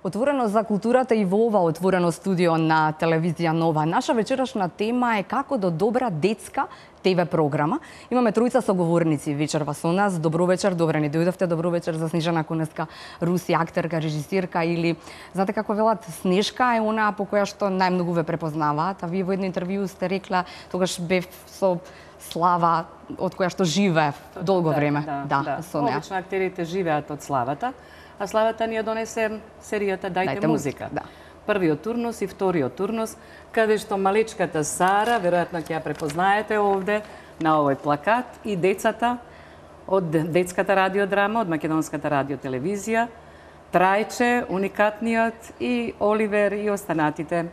Отворено за културата и во ова отворено студио на телевизија Нова. Наша вечерашна тема е како до добра детска ТВ програма. Имаме тројца соговорници вечерва со нас. Добро вечер, добре ни дојдовте. Добро вечер за Снежана Кунеска, Руси, актерка, режисирка или знаете како велат, Снежка е она по која што најмногу ве препознаваат. А вие во едно интервју сте рекла тогаш бев со слава од која што живеев долго време. Да. Со неа. Обично актерите живеат од славата, а славата ни ја донесе серијата Дајте музика. Да. Првиот турнус и вториот турнус, каде што малечката Сара, веројатно ќе ја препознаете овде на овој плакат, и децата од детската радиодрама, од македонската радиотелевизија, Трајче, уникатниот, и Оливер и останатите.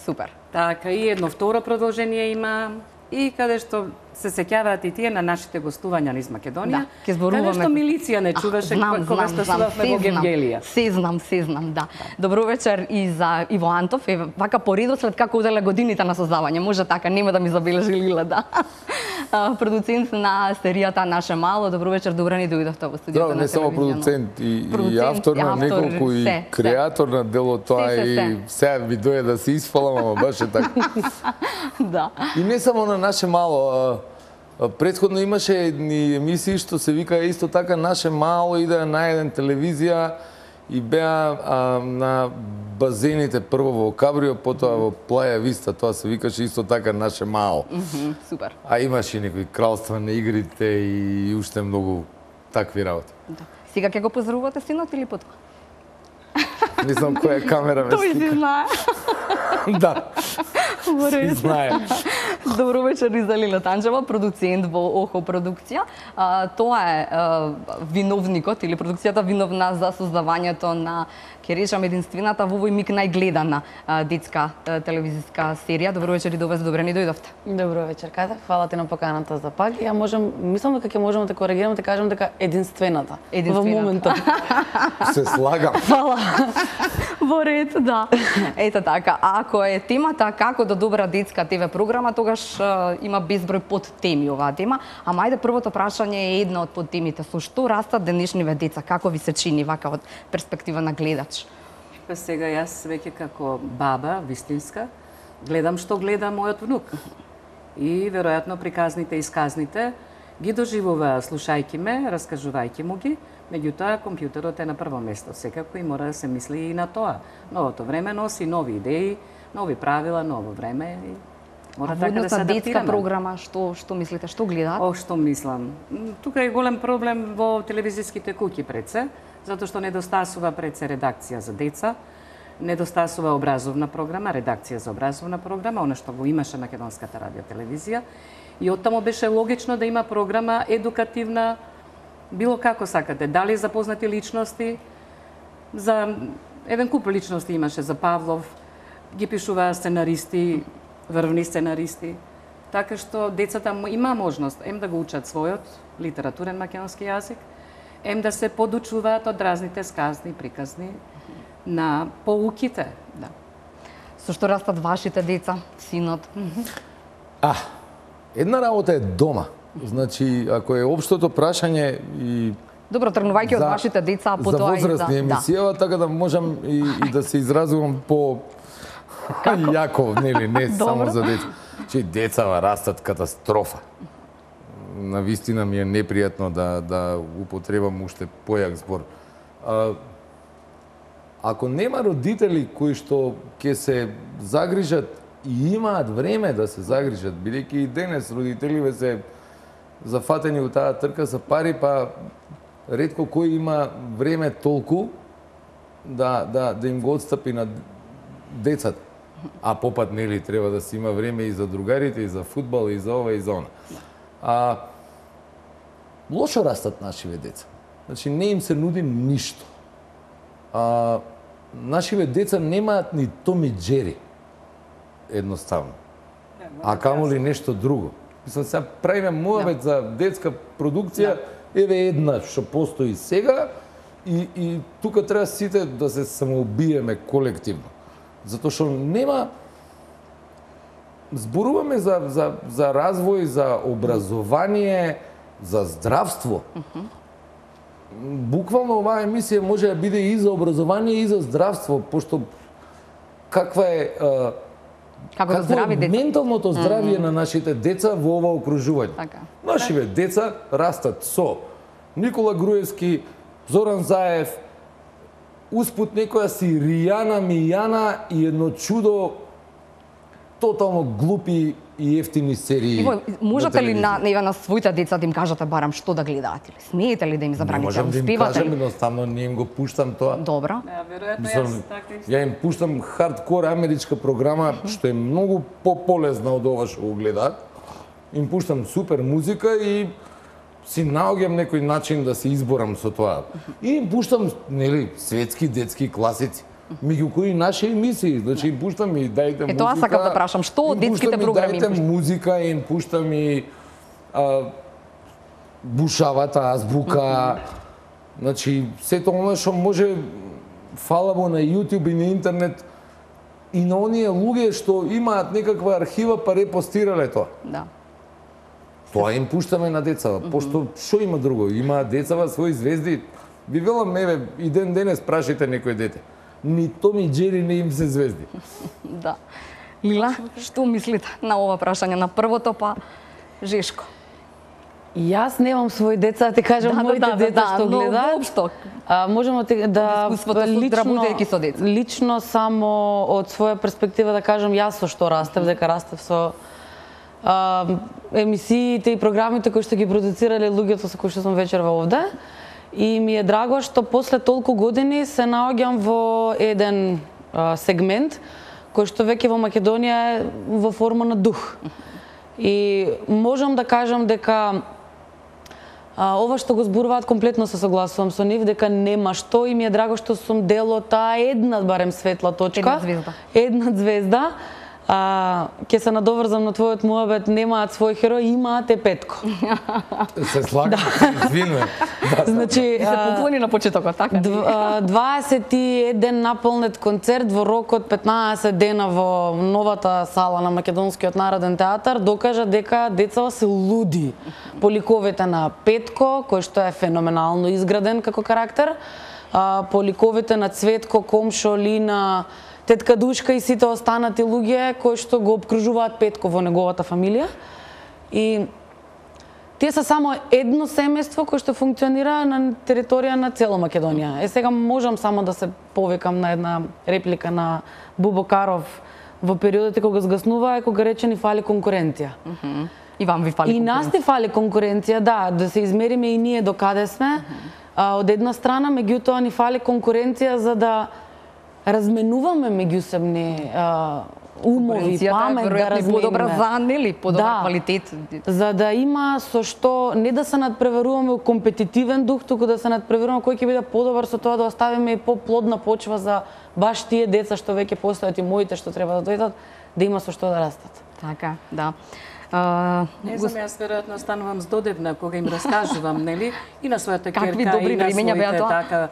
Супер. Така, и едно второ продолжение има, и каде што се сеќаваат и тие на нашите гостувања низ Македонија, ќе зборуваме... каде што милиција не чуваше кога што судавме во Гевгелија. Се знам, да. Добро вечер и за Иво Антов, вака по редослед како оделе годините на создавање, може така, нема да ми забележи Лила, да. Продуцент на серијата Наше мало, добро вечер, добре ни дојдовте во студиото на телевизија. Не само продуцент, и автор на неколку, и креатор на дело тоа, и сега ви дојде да се испалам, ама баш е така. Да. И не само на Наше мало, претходно имаше едни емисии што се вика исто така Наше мало, иде на еден телевизија и беа на базените, прво во Кабрио, потоа во Плаја Виста, тоа се викаше исто така Наше мало. Супер. А имаше и некои кралства на игрите и уште многу такви работи. Да. Сега ќе го поздравувате синот или потоа? Не знам која камера ме Тој си знае. Да. Си знае. Добро вечер и за Лила Танчева, продуцент во ОХО продукција. Тоа е виновникот или продукцијата виновна за создавањето на, ќе речам, единствената во овој миг најгледана детска телевизиска серија. Добро вечер и до вас, добре ни дојдовте. Добро вечер, Ката. Фала ти на поканата за пак. Ја мислам дека ќе можеме да коригираме, да кажем дека единствената. Во моментот. Се слагам. Фала. Во ред, да. Ето така, ако е темата како до добра детска ТВ програма, тогаш има безброј подтеми оваа тема. Ама ајде, првото прашање е една од подтемите. Со што растат денешниве деца? Како ви се чини вака од перспектива на гледач? Па сега јас веќе како баба вистинска гледам што гледа мојот внук. И веројатно приказните и сказните ги доживува слушајќи ме, раскажувајќи му ги. Меѓутоа, компјутерот е на прво место. Секако и мора да се мисли и на тоа. Новото време носи нови идеи, нови правила, ново време. И мора така да се адаптираме. Детска програма, што мислите, што гледаат? Што мислам? Тука е голем проблем во телевизиските куќи пред се, затоа што недостасува пред се редакција за деца, недостасува образовна програма, редакција за образовна програма, она што го имаше македонската радиотелевизија. И оттаму беше логично да има програма едукативна, било како сакате, дали за познати личности, за еден куп личности имаше за Павлов, ги пишуваа сценаристи, врвни сценаристи, така што децата има можност да го учат својот литературен македонски јазик, да се подучуваат од разните сказни, приказни на поуките. Да. Со што растат вашите деца, синот? Една работа е дома. Значи, ако е општото прашање и добро, тргнувајќи од вашите деца, а потоа и за возрастни емисија, така да можам и да се изразувам по јако, нели, не само за деца. Че децава растат катастрофа. Навистина ми е непријатно да употребам уште појак збор. Ако нема родители кои што ќе се загрижат и имаат време да се загрижат, бидејќи и денес родителиве се зафатени у таа трка за пари, па ретко кој има време толку да им го отстапи на децата. А попат, нели, треба да се има време и за другарите, и за фудбал, и за ова, и за она. Лошо растат нашиве деца. Значи, не им се нуди ништо. Нашиве деца немаат ни Том и Џери, едноставно. А камоли нешто друго. Мислам, сега правиме муабет за детска продукција, еве една што постои сега, и тука треба сите да се самоубиеме колективно. Затоа што нема... Зборуваме за развој, за образование, за здравство. буквално оваа емисија може да биде и за образование и за здравство, пошто каква е Како да здрави деца. менталното здравје на нашите деца во ова окружување. Така. Нашите деца растат со Никола Груевски, Зоран Заев, успут некоја си Ријана Мијана и едно чудо тотално глупи и ефтини серии. Иво, можете ли на телевизија. на своите деца да им кажете барам што да гледаат или смеете ли да им Не забраните? можам да им Успевате кажам, ли? едноставно не им го пуштам тоа. Добро. Да, веројатно Мислам, јас така исто. ја им пуштам хардкор америчка програма, што е многу пополезна од ова што го гледаат. Им пуштам супер музика и си наоѓам некој начин да се изборам со тоа. И им пуштам, нели, светски детски класици, меѓу кои наши емисии. Значи им пуштам и дајте музика. тоа сакав да прашам, што од им детските пуштам и програми им дајте пуштам? музика, им пуштам и бушавата азбука. Значи, сето она што може, фала му на YouTube и на интернет, и на оние луѓе што имаат некаква архива па репостирале тоа. Да. Тоа им пуштаме на децава, пошто што има друго? Има децава своји звезди. Ви велам, еве, и ден денес прашите некој дете. Ни Том и Џери не им се звезди. Да. Лила, што мислите на ова прашање на првото, па Жешко? Јас немам своји деца, да ти кажам моите деца што но гледаат. воопшто. Можеме да Искуството со работејќи со деца. лично само од своја перспектива да кажам јас со што растев, дека растев со емисиите и програмите кои што ги продуцирале луѓето со кои што сум вечерва овде. И ми е драго што после толку години се наоѓам во еден сегмент кој што веќе во Македонија е во форма на дух. И можам да кажам дека ова што го зборуваат комплетно се согласувам со нив, дека нема што, и ми е драго што сум дел од таа една барем светла точка. Една звезда. Ќе се надоврзам на твојот муабет, немаат свој херој, имаат Петко. Се слагам, извинувам. Значи, се поклони на почетокот, така? 21 наполнет концерт во рок од 15 дена во новата сала на Македонскиот народен театар докажа дека децава се луди по ликовите на Петко, кој што е феноменално изграден како карактер, по ликовите на Цветко, Комшо, Лина, тетка Душка и сите останати луѓе кои што го обкружуваат Петко во неговата фамилија. И тие се само едно семејство кое што функционира на територија на цела Македонија. Сега можам само да се повикам на една реплика на Бубо Каров во периодите кога згаснува, кога рече ни фали конкуренција. И вам ви фали конкуренција. И нас ни фали конкуренција, да се измериме и ние до каде сме. Од една страна, меѓутоа ни фали конкуренција за да разменуваме меѓусебни умови, памет, да разменуваме. Подобра за, нели, подобра квалитет. За да има со што, не да се надпреваруваме у компетитивен дух, туку да се надпреваруваме кој ќе биде подобар, со тоа да оставиме и поплодна почва за баш тие деца што веќе постојат и моите што треба да дојдат, да има со што да растат. Така, да. Не знам, јас веројатно станувам здодевна кога им раскажувам, нели, и на својата ќерка, добри и на времења беа своите тоа? така,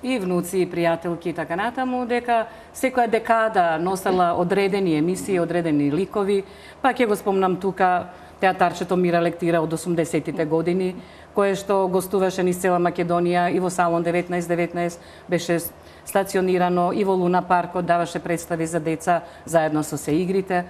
и внуци, и пријателки и така натаму, дека секоја декада носела одредени емисии, одредени ликови, па ќе го спомнам тука театарчето Мира Лектира од 80-тите години, кое што гостуваше низ цела Македонија и во Салон 1919 беше стационирано и во Луна паркот, даваше представи за деца заедно со се игрите.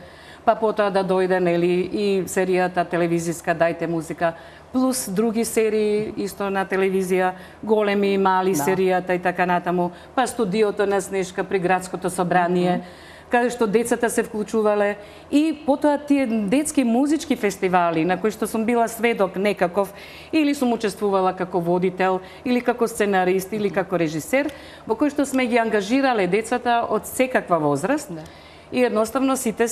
Па потоа да дојде, нели, и серијата телевизиска Дајте музика, плюс други серии исто на телевизија, големи и мали серијата и така натаму, па студиото на Снешка при градското собрание, каде што децата се вклучувале, и потоа тие детски музички фестивали на кои што сум била сведок некаков, или сум учествувала како водител, или како сценарист, или како режисер, во кои што сме ги ангажирале децата од секаква возраст, и едноставно сите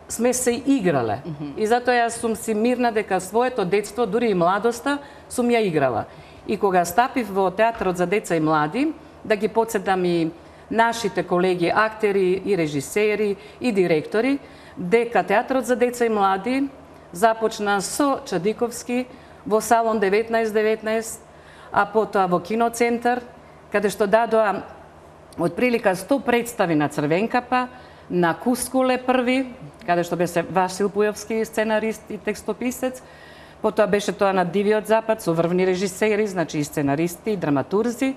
сме се играле. И затоа јас сум си мирна дека своето детство, дури и младоста, сум ја играла. И кога стапив во театарот за деца и млади, да ги потсетам и нашите колеги, актери и режисери и директори, дека театарот за деца и млади започна со Чадиковски во Салон 1919, а потоа во Киноцентар, каде што дадоа отприлика 100 представи на Црвенкапа, на Кускуле први, каде што беше Васил Пујовски, сценарист и текстописец, Потоа беше тоа на Дивиот Запад со врвни режисери, значи и сценаристи, и драматурзи.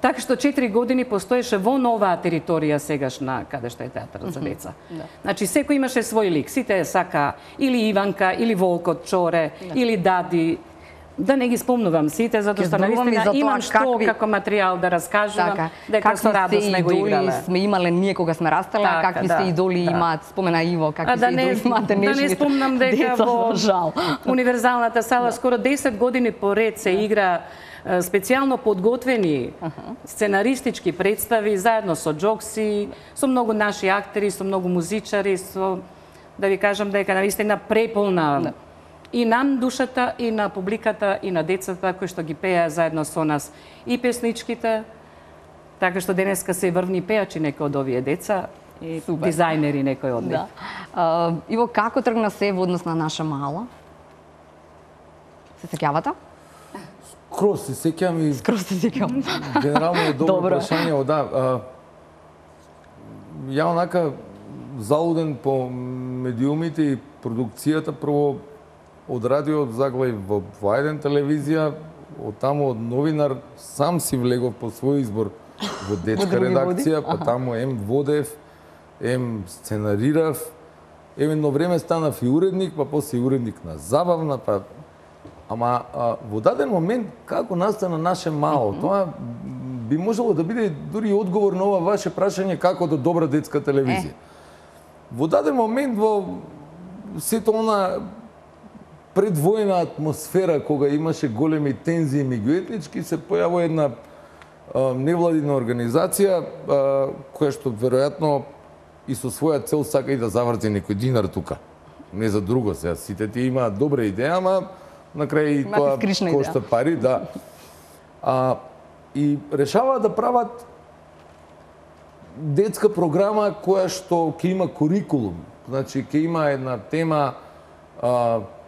Така што 4 години постоеше во новаа територија сегашна, каде што е театарот за деца. Значи секој имаше свој лик, сите сака или Иванка, или Волкот Чоре, или Дади. Да не ги спомнувам сите, затоа што навистина имам што како материјал да раскажувам, дека со радост не го играле. Сме имале ние кога сме растале, какви сте идоли имаат, спомена Иво, какви сте идоли имате нешни. Да не спомнам дека во универзалната сала скоро 10 години поред се игра специјално подготвени сценаристички представи заедно со Джокси, со многу наши актери, со многу музичари, со да ви кажам дека навистина преполна и нам душата, и на публиката, и на децата кои што ги пееа заедно со нас и песничките, така што денеска се врвни пеачи некои од овие деца и дизајнери некои од нив. Иво, како тргна се во однос на наша мала? Се сеќавате? Скроз се сеќам и... Скроз се сеќам. Генерално е добро прашање, да. Ја онака залуден по медиумите и продукцијата, прво од радио заглави во еден телевизија, од таму од новинар, сам си влегов по свој избор во детска редакција, па таму водев, сценарирав, едно време станав и уредник, па после и уредник на забавна, па ама во даден момент како настана наше мало, тоа би можело да биде дури одговор на ова ваше прашање како до добра детска телевизија. Во даден момент во сето она предвојна атмосфера кога имаше големи тензии меѓуетнички, се појавува една невладина организација која што веројатно и со своја цел сака и да заврти некој динар тука. Не за друго сега, сите ти имаат добра идеја, ама на крај и тоа кошта пари, да. И решаваат да прават детска програма која што ќе има курикулум. Значи, ќе има една тема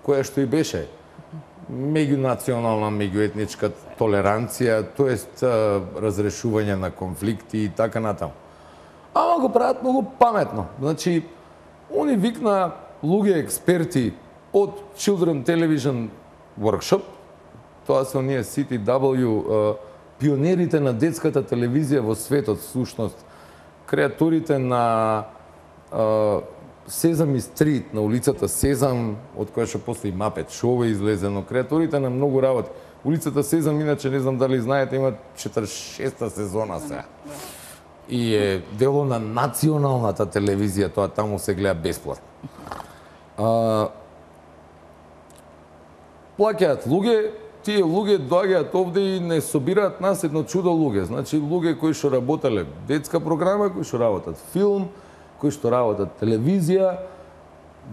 која што и беше меѓунационална, меѓуетничка толеранција, тоест разрешување на конфликти и така натаму. Ама го прават многу паметно. Значи, они викна луѓе експерти од Children Television Workshop, тоа се оние CTW, пионерите на детската телевизија во светот, всушност, креаторите на Сезам и Стрит, на улицата Сезам, од која што после и Мапет Шоу е излезено, креаторите на многу работи. Улицата Сезам, иначе не знам дали знаете, има 46-та сезона сега. И е дело на националната телевизија, тоа таму се гледа бесплатно. Плаќаат луѓе, тие луѓе доаѓаат овде и не собираат нас едно чудо луѓе. Значи, луѓе кои што работеле детска програма, кои што работат филм, кои што работат телевизија.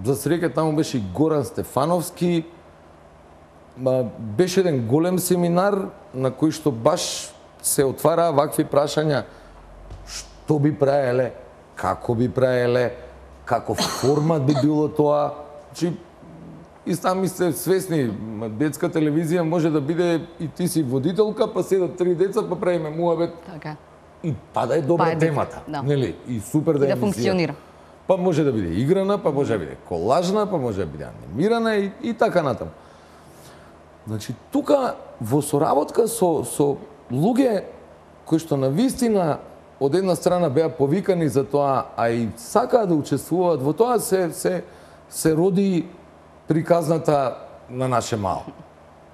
За среќа таму беше и Горан Стефановски. Беше еден голем семинар на кој што баш се отвараа вакви прашања. Што би правеле, како би правеле, каков формат би било тоа. Значи, и сами сте свесни, детска телевизија може да биде и ти си водителка, па седат 3 деца, па правиме муабет. Така. И па да е добра темата, нели? И супер да е функционира. Па може да биде играна, па може да биде колажна, па може да биде анимирана и така натаму. Значи, тука во соработка со луѓе кои што навистина од една страна беа повикани за тоа, а и сакаат да учествуваат во тоа, се роди приказната на наше мало.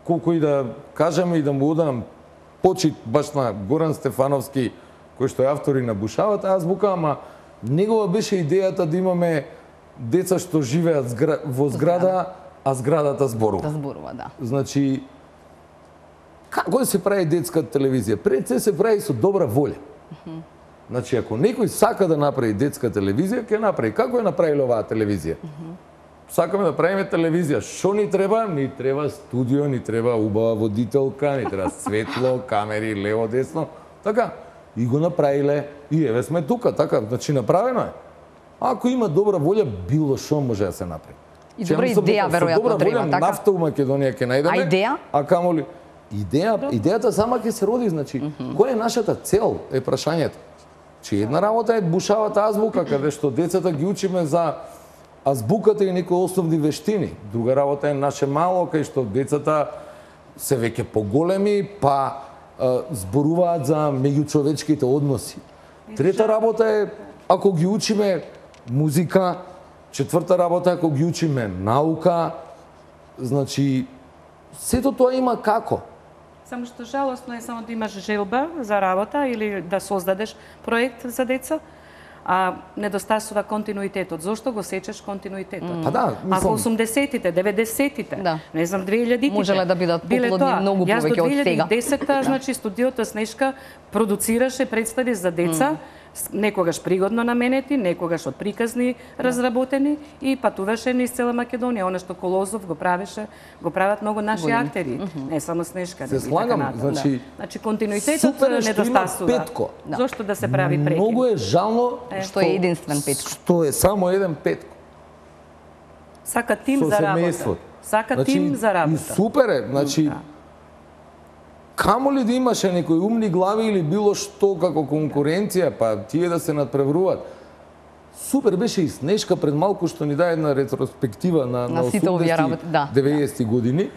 Колку и да кажеме и да му одам почит баш на Горан Стефановски, кој што е автор и на Бушавата азбука, ама негова беше идејата да имаме деца што живеат во зграда, а зградата зборува. Да зборува, да. Значи, како да се прави детска телевизија? Пред се прави со добра волја. Значи, ако некој сака да направи детска телевизија, ќе направи. Како е направила оваа телевизија? Сакаме да правиме телевизија. Што ни треба? Ни треба студио, ни треба убава водителка, ни треба светло, камери, лево, десно. Така. И го направиле. И еве сме тука. Така. Значи, направено е. Ако има добра волја, било што може да се направи. И добра идеја, веројатно, треба. Така. Нафта у Македонија ќе најдеме. А идеја? А камоли? Идејата сама ќе се роди. Значи, која е нашата цел, е прашањето. Че една работа е Бушавата азбука, каде што децата ги учиме за азбуката и некои основни вештини. Друга работа е наше мало, кај што децата се веќе поголеми, па зборуваат за меѓучовечките односи. Трета работа е ако ги учиме музика, четврта работа е ако ги учиме наука, значи сето тоа има како. Само што жалосно е само да имаш желба за работа или да создадеш проект за деца, а недостасува континуитетот. Зошто го сечеш континуитетот? Па да, Ако 80-тите, 90-тите, не знам 2000-тите, можеле да бидат поплодни многу повеќе од сега. Јас до 2010-та, значи студиото Снешка продуцираше представи за деца, некогаш пригодно наменети, некогаш од приказни разработени и патуваше низ цела Македонија. Она што Колозов го правеше, го прават многу наши актери, не само Снешка. Се слагам, значи континуитетот недостасува. Петко. Зошто да се прави прекин? Многу е жално што е единствен Петко. Што е само еден Петко. Сака тим за работа. Сака тим за работа. И супер е, значи камо ли да имаше некои умни глави или било што како конкуренција, па тие да се надпреваруваат. Супер беше и Снешка пред малку што ни даде една ретроспектива на 80-90 години.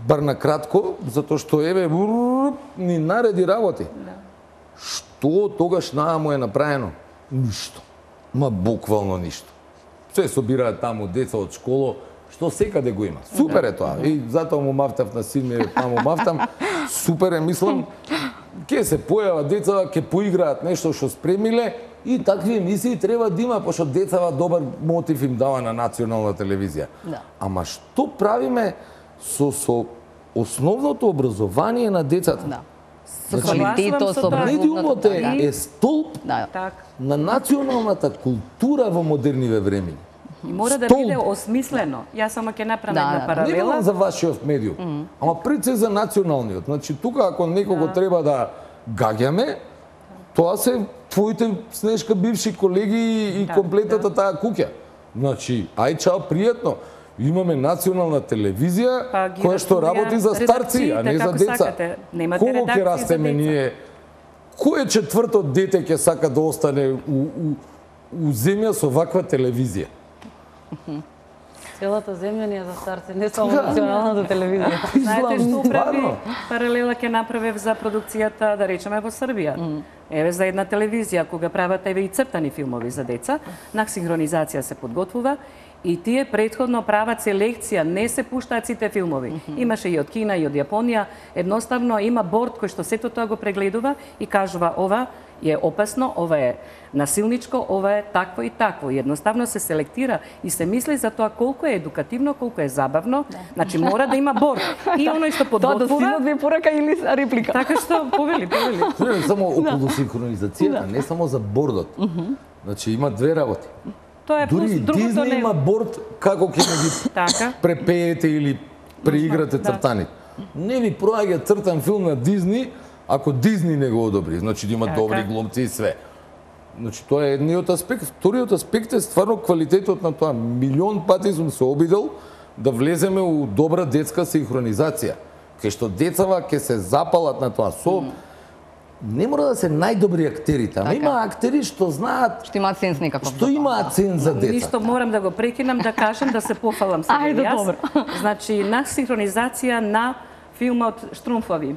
Бар на кратко, затоа што ни нареди работи. Што тогаш му е направено? Ништо. Ма буквално ништо. Се собираат таму деца од школа, што секаде го има. Супер е тоа. И затоа му мафтав на син ми, таму мафтам. Супер е, мислам, ќе се појава деца, ќе поиграат нешто што спремиле и такви емисии треба да има, пошто децава добар мотив им дава на национална телевизија. Ама што правиме со основното образование на децата? Со квалитетот, со медиумот е столб на националната култура во модерниве времиња. И мора да биде осмислено. Јас само ќе направам една паралела. Не говорам за вашиот медиум, ама пред се за националниот. Значи, тука ако некого треба да гаѓаме, тоа се твоите Снешка бивши колеги и комплетната таа куќа. Значи, ај чао, пријатно. Имаме национална телевизија која што работи за старци, а не за деца. Кого ќе растеме ние? Кој четврто дете ќе сака да остане у земја со ваква телевизија? Целата земја ни е за старци, не само националната телевизија. Знаете што управи паралела ќе направев за продукцијата, да речеме, во Србија? Еве за една телевизија, кога прават еве и цртани филмови за деца, на синхронизација се подготвува и тие претходно прават селекција, не се пуштаат сите филмови. Имаше и од Кина и од Јапонија, едноставно има борд кој што сето тоа го прегледува и кажува ова е опасно, ова е насилничко, ова е такво и такво. Едноставно се селектира и се мисли за тоа колку е едукативно, колку е забавно. Значи мора да има борд. И оној што подготвува... Тоа до синот ви порака или реплика? Така што, повели. Само околу синхронизацијата, не само за бордот. Значи има две работи. Тоа е плюс, другото не... има борд како ќе ги препеете или преиграте цртаните. Не ви проаѓа цртан филм на Дизни, ако Дизни не го одобри, значи да има добри глумци и све. Значи тоа е едниот аспект. Вториот аспект е стварно квалитетот на тоа. Милион пати сум се обидел да влеземе у добра детска синхронизација, кај што децава ќе се запалат на тоа. Не мора да се најдобри актерите, ама има актери што знаат... Што имаат сенс некаков. Што имаат сенс за деца. Ништо морам да го прекинам, да кажам, да се пофалам сега јас. Значи, на синхронизација на филмот Штрумфови.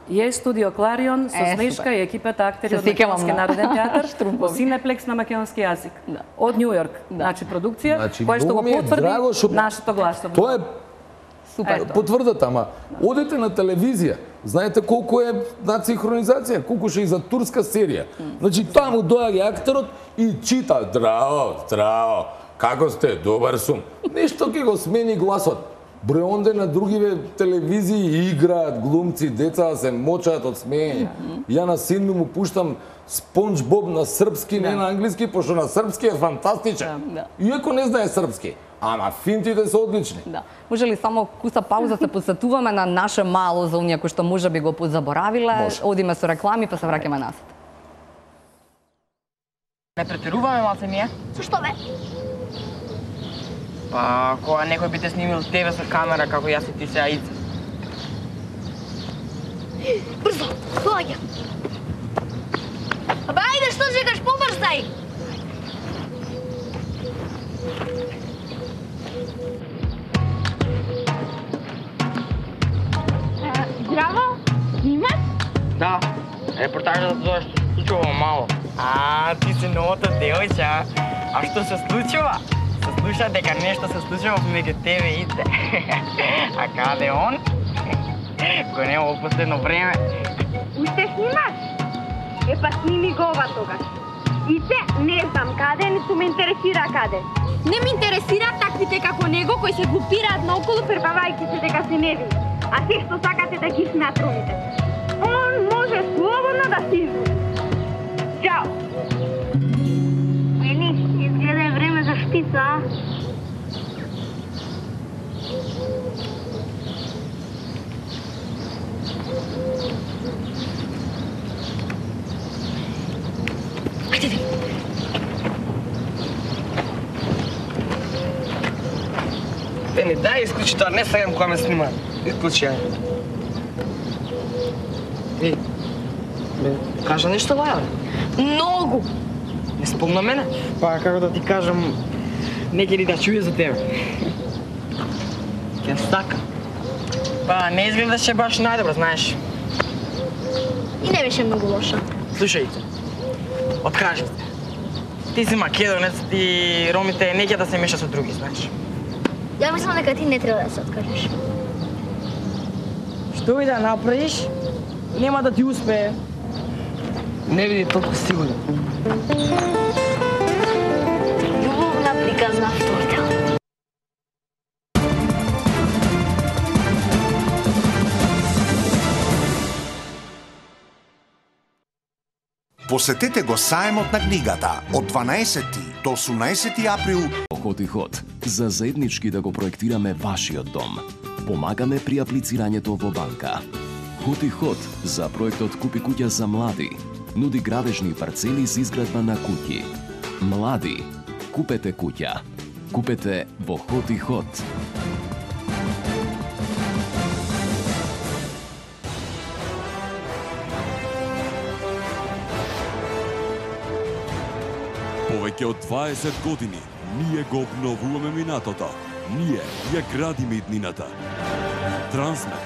Е студио Кларион со Снешка и екипата актери од Македонски народен театар во Синеплекс на македонски јазик. Од Њу Јорк. Значи, продукција која што го потврди нашето гласово. Тоа е потврдата, ама одете на телевизија, знаете колку е на синхронизација, колку ше и за турска серија. Значи таму доаѓа актерот и чита: "Здраво, како сте? Добар сум." Нешто ќе го смени гласот. Број онде на другиве телевизии играат глумци, деца се мочаат од смеење. Ја на син му пуштам Спонж Боб на српски, не на англиски, пошто на српски е фантастичен. Иако не знае српски. Ама финтите се одлични. Може ли само куса пауза се посетуваме на наше мало за оние кои што може би го позаборавиле, одиме со реклами па се враќаме назад. Не претеруваме малце ние? Зашто бе? Па, кога некој би те снимил тебе со камера како јас и ти сега ица. Брзо, доаѓа. Абе, ајде, што чекаш, побрзај! Да, репортажа за тоа што се случува во мало. Ти си новото девојче, а што се случува? Се слуша дека нешто се случува меѓу тебе и те. А каде он? Го нема во последно време. Уште снимаш? Па сними го ова тогаш. И те не знам каде, ниту ме интересира каде. Не ме интересираат таквите како него кои се глупираат наоколу пребавајќи се дека се невини. А се што сакате да ги смеат ромите. Он може слободно да се излузи. Чао! Ели, изгледа е време за шпица, а? Ени, дај исклучи тоа, не сегам кога ме снимаат. Исклучи, ај. Ей, кажа нешто Лаја, бе. Многу! Не спомна мене? Па, како да ти кажам, не ќе ли да чуе за тебе. Ќе стака. Па, не изгледаше баш најдобро, знаеш. И не беше многу лоша. Слушај, откажи се. Ти си македонец и ромите не ќе да се меша со други, знаеш. Ја мислам дека ти не треба да се откажеш. Што и да направиш, нема да ти успее. Не биди толку сигурен. Љубовна приказна втор дел. Посетете го саемот на книгата од 12 до 18 април. Ход и ход, за заеднички да го проектираме вашиот дом. Помагаме при аплицирањето во банка. Ход и ход за проектот Купи куќа за млади. Нуди градежни парцели за изградба на куќи. Млади, купете куќа. Купете во Ход и ход. Повеќе од 20 години ние го обновуваме минатото. Ние ја градиме иднината. Трансмет.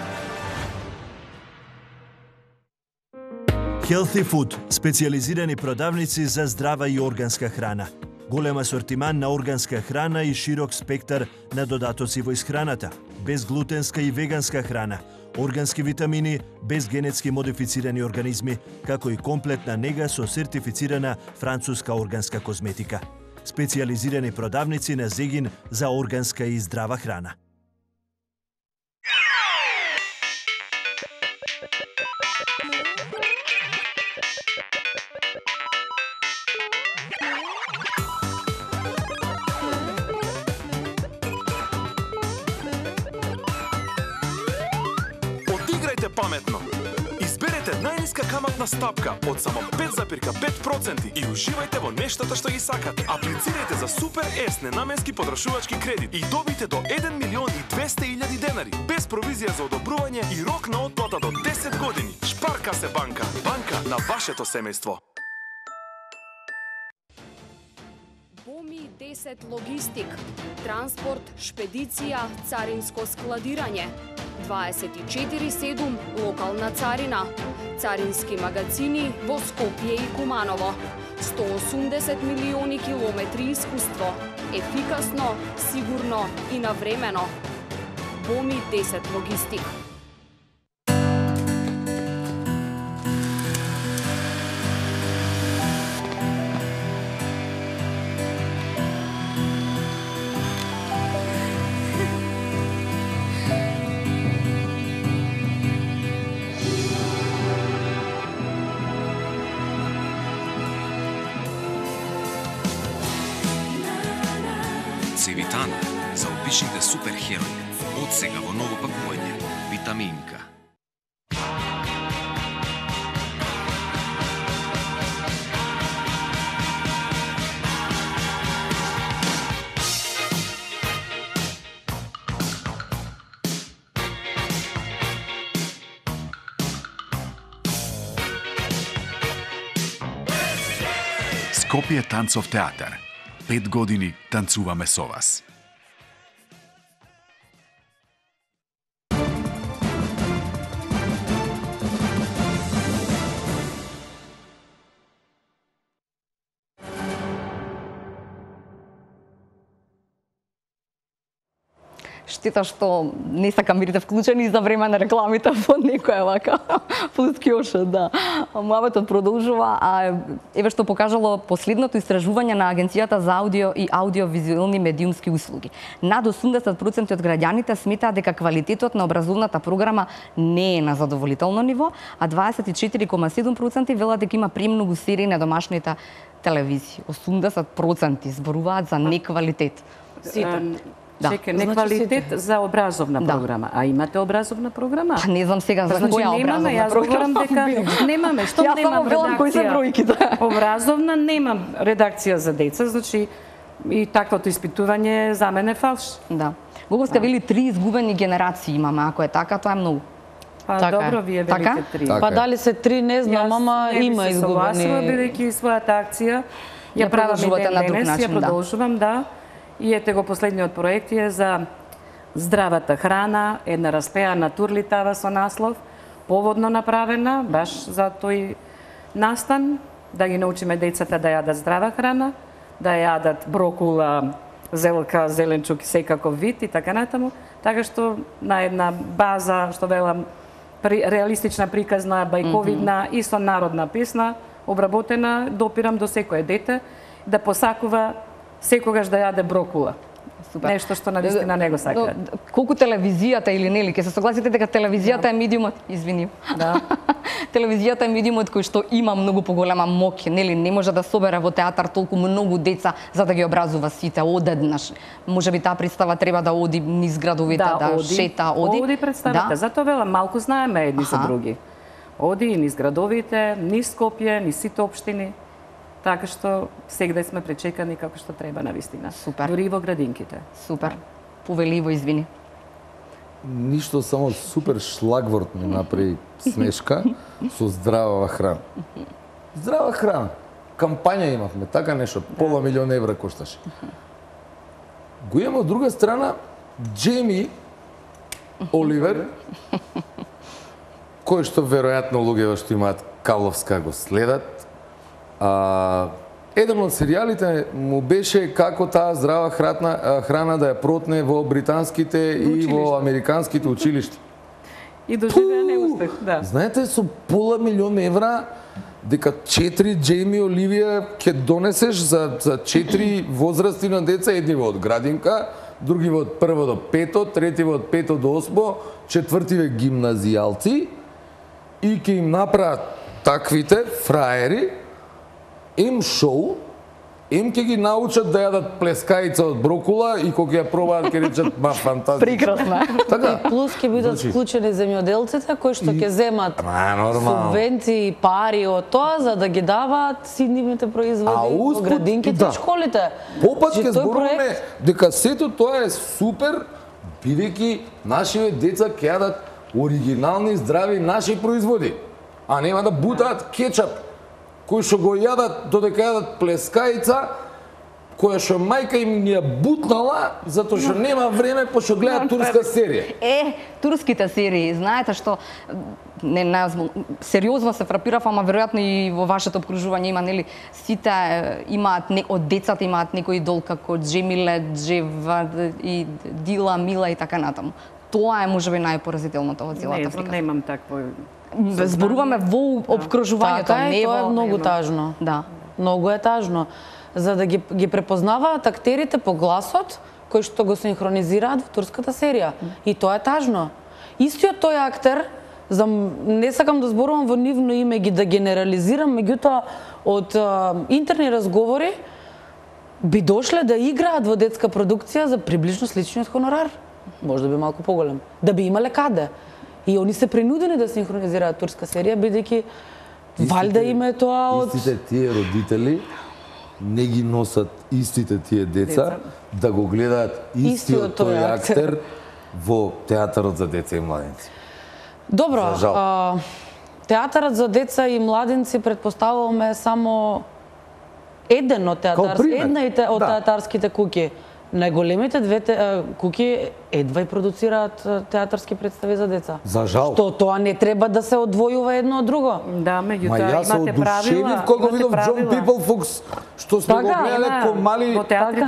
Healthy Food – специализирани продавници за здрава и органска храна. Голем асортиман на органска храна и широк спектар на додатоци во исхраната. Безглутенска и веганска храна, органски витамини, без генетски модифицирани организми, како и комплетна нега со сертифицирана француска органска козметика. Специализирани продавници на Зегин за органска и здрава храна. Паметно. Изберете најниска каматна стапка од само 5,5% и уживајте во нештото што ги сакате. Аплицирајте за Супер С ненаменски потрошувачки кредит и добите до 1.200.000 денари без провизија за одобрување и рок на отплата до 10 години. Шпарка се банка. Банка на вашето семејство. Боми 10 логистик, транспорт, шпедиција, царинско складирање. 24/7 локална царина, царински магазини во Скопје и Куманово, 180 милиони километри искуство, ефикасно, сигурно и навремено. Боми 10 логистик. Цевитана за обичните суперхерои. Од сега во ново пакување. Витаминка. Скопје танцов театар. 5 години танцуваме со вас. Штета што не са камерите вклучени за време на рекламите во некоја вака плюс кјоша, да. Муабетот продолжува, а еве што покажало последното истражување на Агенцијата за аудио и аудиовизуелни медиумски услуги. Над 80% од граѓаните сметаат дека квалитетот на образовната програма не е на задоволително ниво, а 24,7% велат дека има премногу серии на домашните телевизии. 80% зборуваат за неквалитет. Сите. Чекај, неквалитет за образовна програма. А имате образовна програма? Па не знам сега за која образовна програма. Дека немаме, што немам редакција. Образовна немам редакција за деца, значи и таквото испитување за мене фалш. Да. Гоговска вели 3 изгубени генерации имаме, ако е така, тоа е многу. Па добро, вие велите 3. Па дали се 3, не знам, ама има изгубени. Јас бидејќи својата акција ја правам и денес, ја продолжувам, да. И ете го последниот проект е за здравата храна, една распеана турлитава со наслов, поводно направена, баш за тој настан, да ги научиме децата да јадат здрава храна, да јадат брокула, зелка, зеленчук и секаков вид и така натаму, така што на една база, што велам, реалистична приказна, бајковидна и со народна песна, обработена, допирам до секое дете да посакува секогаш да јаде брокула. Супер. Нешто што навистина не го сакаат. Колку телевизијата или нели, ќе се согласите дека телевизијата е медиумот, извини. Да. Телевизијата е медиумот кој што има многу поголема моќ, нели, не може да собере во театар толку многу деца за да ги образува сите одеднаш. Можеби таа представа треба да оди низ градовите, да шета, оди. Оди представата, затоа велам малку знаеме едни за други. Оди и низ градовите, низ Скопје, низ сите општини. Така што сегде сме пречекани како што треба навистина. Супер. Дури и во градинките. Супер. Повеливо, извини. Ништо, само супер шлагворд ми направи смешка со здрава храна. Здрава храна. Кампања имавме, така нешто, пола милион евра кошташе. Го имаме од друга страна Джейми Оливер, кој што веројатно луѓето што имаат кабловска го следат. Еден од серијалите му беше како таа здрава храна да ја протне во британските и во американските училишта. И доживеа неуспех, да. Знаете, со пола милион евра дека 4 Джейми Оливија ќе донесеш за 4 возрасти на деца, едни од градинка, други од 1 до 5, трети од 5 до 8, четвртиве гимназијалци и ќе им направат таквите фраери им шоу, им ќе ги научат да јадат плескаица од брокула и кога ја пробаат ќе речат ма фантастично. Прекрасно. Така. И плюс ќе бидат вклучени земјоделците кои што ќе земат субвенции, пари од тоа за да ги даваат сиднивните производи во градинките и школите. Попат ќе зборуваме дека сето тоа е супер, бидејќи нашите деца ќе јадат оригинални, здрави наши производи, а нема да бутаат кетчап кои што го јадат додека јадат плескаица, која што мајка им ја бутнала затоа што нема време пошто гледаат турска серија. Турските серии, знаете што сериозно се фрапирав, ама веројатно и во вашето обкружување има, нели, сите имаат од децата имаат некој идол како Джемиле, Джева и Дила, Мила и така натаму. Тоа е можеби најпоразителното во целата приказна. Не, немам такво. Зборуваме во обкружувањето, така не тоа е во многу тажно. Да. Многу е тажно. За да ги препознаваат актерите по гласот кои што го синхронизираат во турската серија. И тоа е тажно. Истиот тој актер, не сакам да зборувам во нивно име ги да генерализирам, меѓутоа од интерни разговори би дошле да играат во детска продукција за приближно сличниот хонорар. Може да би малку поголем. Да би имале каде. И они се принудени да синхронизираат турска серија, бидејќи валјда им е тоа од... Истите тие родители не ги носат истите тие деца да го гледаат истиот тој актер во театарот за деца и младенци. Добро, театарот за деца и младенци предпоставуваме само еден од една од театарските куќи. Најголемите две куќи едва и продуцираат театарски представи за деца. За жал. Што тоа не треба да се одвојува едно од друго. Да, меѓутоа имате правила. Кога видов Джон Пипл Фукс, што сме го гледале ко мали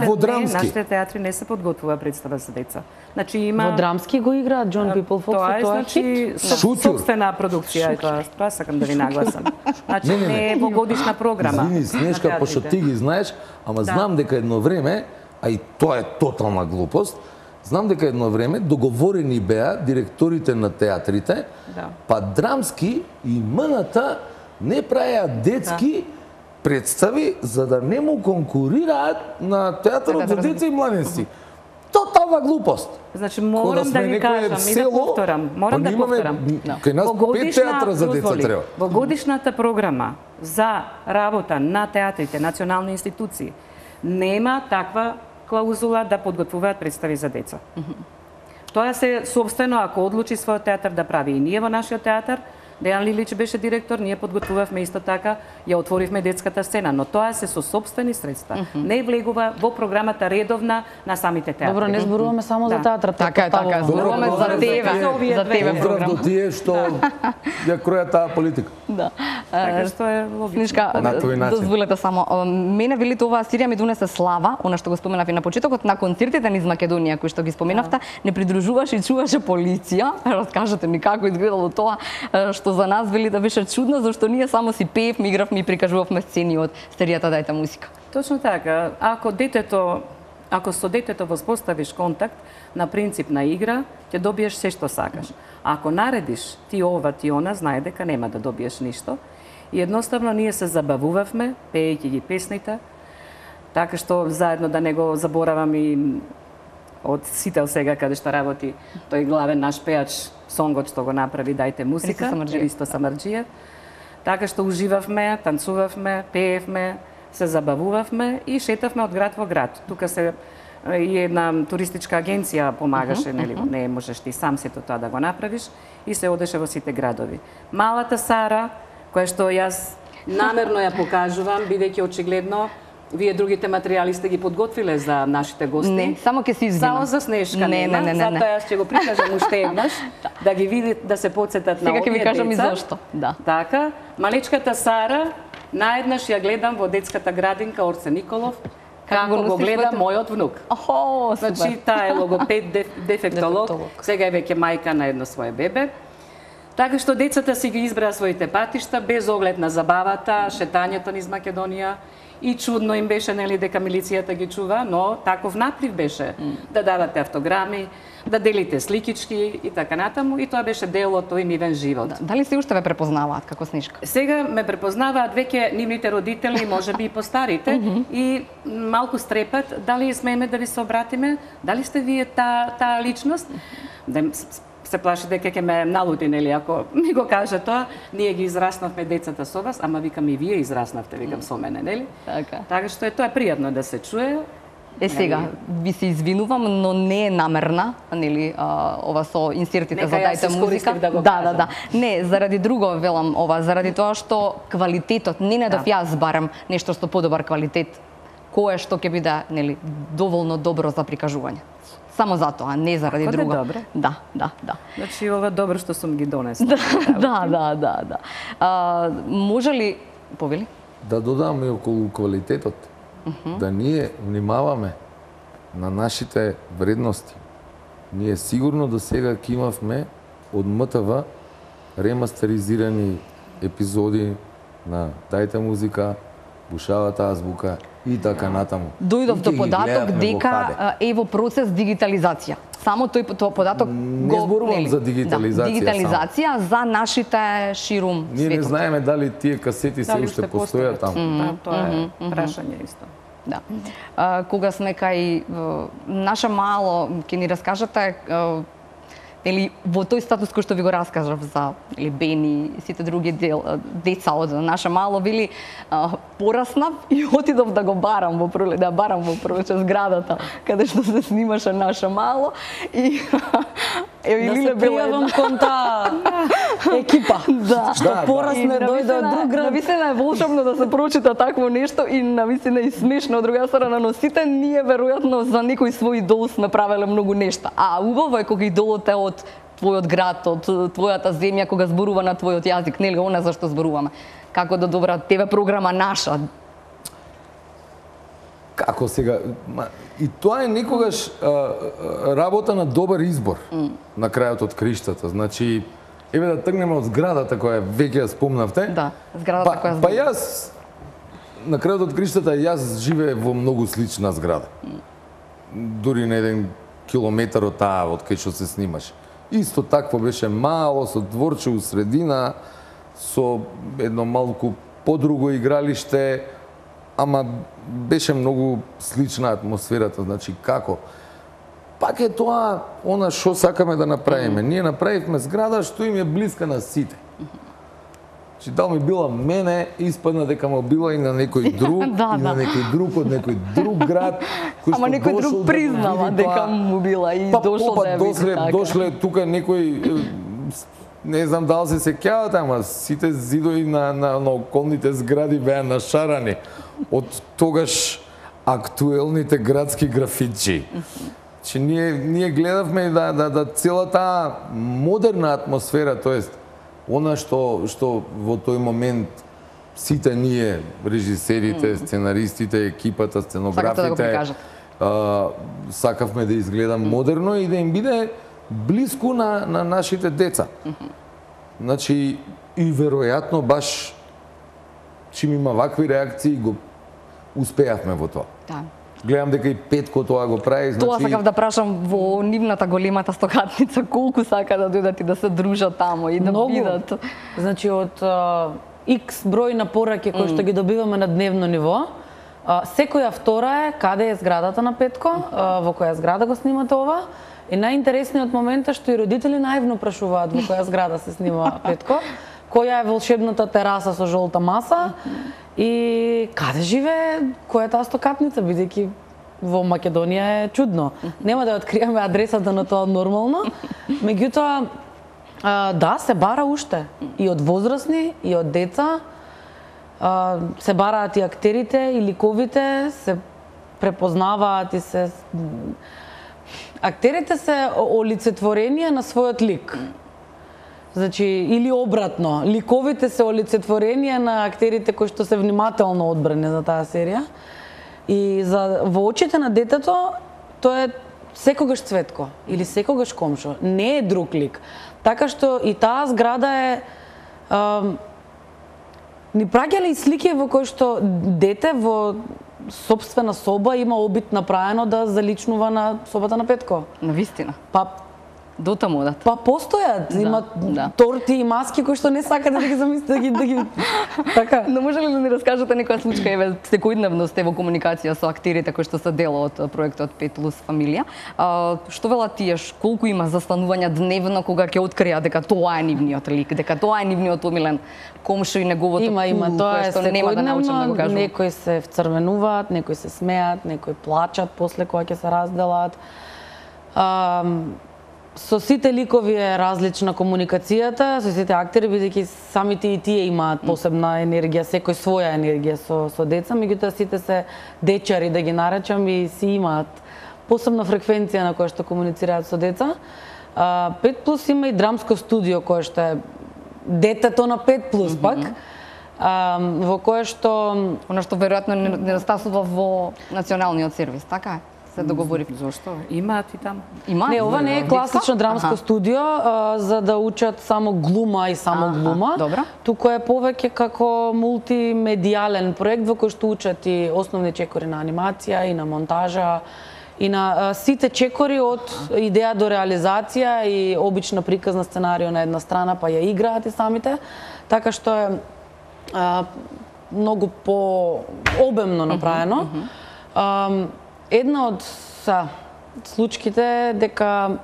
во драмски. Нашите театри не се подготвува представа за деца. Значи има Во драмски го играат Джон Пипл Фукс, тоа е значи собствена продукција е тоа. Тоа сакам да ви нагласам. Значи не е во годишна програма. Извини, Снежка, пошто ти ги знаеш, ама знам дека едно време, а и тоа е тотална глупост, знам дека едно време договорени беа директорите на театрите, па драмски и МНТ не правеа детски представи за да не му конкурираат на театарот за деца и младенци. Тотална глупост. Значи морам да ви кажам и да повторам. Морам да повторам. Кај нас 5 театра за деца треба. Во годишната програма за работа на театрите, национални институции, нема таква клаузула да подготвуваат представи за деца. Тоа се собствено, ако одлучи својот театар да прави и ние во нашиот театар, Дејан Лилич беше директор, ние подготвувавме исто така, ја отворивме детската сцена, но тоа се со сопствени средства. Не влегува во програмата редовна на самите театри. Добро, не зборуваме само за театрот. Така е, зборуваме за тебе програма. Поздрав до тие што ја кројат таа политика. Да. Така што е логично. Снежка, дозволете само. Мене велите оваа серија ми донесе слава, она што го споменав и на почетокот, на концертите низ Македонија кои што ги споменавте, не придружуваше и чуваше полиција. Раскажете ми како изгледало тоа, што за нас вели да беше чудно, зашто ние само си пеевме, игравме и прикажувавме сцени од серијата Дајте музика. Точно така. Ако со детето воспоставиш контакт на принцип на игра, ќе добиеш се што сакаш. Ако наредиш ти ова, ти она, знае дека нема да добиеш ништо. И едноставно ние се забавувавме, пеејќи ги песните, така што заедно да не го заборавам и од Сител сега каде што работи тој главен наш пеач, сонгот што го направи Дајте музика, Ристо Самарџиев. Така што уживавме, танцувавме, пеевме, се забавувавме и шетавме од град во град. Тука се и една туристичка агенција помагаше, нели, не можеш ти сам сето тоа да го направиш и се одеше во сите градови. Малата Сара, која што јас намерно ја покажувам, бидејќи очигледно вие другите материјали сте ги подготвиле за нашите гости. Не, само ќе се извинам. Само за Снежка нема, затоа јас ќе го прикажам уште еднаш, да ги видите, да се потсетат на овие деца. Сега ќе ви кажам и зашто. Да. Така, малечката Сара, наеднаш ја гледам во детската градинка Орце Николов, како го гледа мојот внук. Значи, таа е логопед, дефектолог, сега е веќе мајка на едно свое бебе. Така што децата си ги избраа своите патишта, без оглед на забавата, шетањето низ Македонија. И чудно им беше, нели, дека милицијата ги чува, но таков наплив беше. Да давате автограми, да делите сликички и така натаму. И тоа беше дел од тој нивен живот. Дали се уште ве препознаваат како Снежка? Сега ме препознаваат веќе нивните родители, можеби и постарите, и малку стрепат, дали смееме да ви се обратиме, дали сте вие таа личност? Се плаши дека ќе ме налуди, нели, ако ми го каже тоа. Ние ги израснавме децата со вас, ама викам и вие израснавте, викам со мене, нели? Така што тоа е пријатно да се чуе. Сега, ви се извинувам, но не е намерна, нели, ова со инсертите за Дајте музика. Да. Не, заради друго велам ова, заради тоа што квалитетот, не недов јас барам нешто што подобар квалитет, кое што ќе биде, нели, доволно добро за прикажување. Само затоа, не заради друго. Добро. Да. Значи, ова добро што сум ги донесла. Да. Може ли, повели? Да додам и околу квалитетот. Да ние внимаваме на нашите вредности. Ние сигурно до сега ќе имавме од МТВ ремастеризирани епизоди на Дајте музика, Бушавата азбука и така натаму. Дојдов до податок дека е во процес дигитализација. Само тој податок не зборувам за дигитализација. Дигитализација за нашите ширум светот. Ние не знаеме дали тие касети се уште постојат таму. Тоа е прашање исто. Да. Кога сме кај наша мало, ќе ни раскажете или во тој статус кој што ви го раскажав за или Бени и сите други деца од наша мало, вели пораснав и отидов да го барам во пролече зградата каде што се снимаше наша мало и Еве да се пријавам кон таа екипа. Што порасне дојде од друг град. Навистина е волшебно да се прочита такво нешто и навистина и смешно од друга страна, но сите ние веројатно за некој свој идол сме правеле многу нешта. А убаво е кога идолот е од твојот град, од твојата земја, кога зборува на твојот јазик, нели она за што зборуваме. Како да добра ТВ програма наша. Како сега, и тоа е некогаш работа на добар избор на крајот од криштата. Значи, еве да тргнеме од зградата која веќе ја спомнавте. Да, зградата која Па јас на крајот од криштата јас живеев во многу слична зграда. Дури на 1 километар од таа од кај што се снимаше. Исто такво беше мало, со дворче у средина, со едно малку подруго игралиште, ама беше многу слична атмосферата, значи како? Пак е тоа она што сакаме да направиме. Ние направивме зграда што им е блиска на сите. Значи дал ми била мене, испадна дека му била и на некој друг, и на некој друг од некој друг град, кој што ама некој друг признава дека му била и дошол да ја види така. Дошле тука некој, не знам дали се сеќавате, ама сите зидови на околните згради беа нашарани од тогаш актуелните градски графичи. Че ние гледавме да целата модерна атмосфера, тоест она што во тој момент сите ние, режисерите, сценаристите, екипата, сценографите, сакавме да изгледа модерно и да им биде блиску на нашите деца. Значи, и веројатно баш чим има вакви реакции, го успеавме во тоа. Да. Гледам дека и Петко тоа го прави, значи... Тоа сакав да прашам во нивната големата стокатница, колку сака да дојдат и да се дружат тамо и да бидат. Значи, од X број на пораки кои што ги добиваме на дневно ниво, секоја втора е каде е зградата на Петко, во која зграда го снимате ова, и најинтересниот момент е што и родители наивно прашуваат во која зграда се снима Петко, која е волшебната тераса со жолта маса и каде живее, која е таа стокатница, бидејќи во Македонија е чудно. Нема да откриеме адресата на тоа нормално, меѓутоа да, се бара уште и од возрастни, и од деца, се бараат и актерите, и ликовите, се препознаваат и се... Актерите се олицетворение на својот лик. Значи, или обратно, ликовите се олицетворение на актерите кои што се внимателно одбрани за таа серија. И во очите на детето, тоа е секогаш Цветко или секогаш Комшо, не е друг лик. Така што и таа зграда е... ни праќале и слики во кои што дете во собствена соба има обид направено да заличнува на собата на Петко. Навистина. Па дотаму одат. Па постојат, имат торти и маски кои што не сакате да ги замислите, да ги така. Но може ли да ни раскажете некоја случка, еве секојдневно сте во комуникација со актерите кои што се дел од проектот 5+ фамилија. Што велат тие, колку има застанувања дневно кога ќе откријат дека тоа е нивниот лик, дека тоа е нивниот омилен Комшо и неговото има, тоа е што нема да научам да го кажам. Некои се вцрвенуваат, некои се смеат, некои плачат после кога ќе се разделат. Со сите ликови е различна комуникацијата, со сите актери, бидејќи самите и тие имаат посебна енергија, секој своја енергија со деца, меѓутоа сите се дечари, да ги наречам, и си имаат посебна фреквенција на која што комуницираат со деца. 5+ има и драмско студио кое што е детето на 5+ пак, во кое што... Она што веројатно недостасува во националниот сервис, така е? Се договорив. Зошто? Имаат и таму. Има? Не, ова не е класично драмско студио за да учат само глума и само глума. Добра. Туку е повеќе како мултимедијален проект во кој што учат и основни чекори на анимација и на монтажа и на сите чекори од идеја до реализација и обична приказна сценарио на една страна, па ја играат и самите, така што е многу по-обемно направено. Една од случките е дека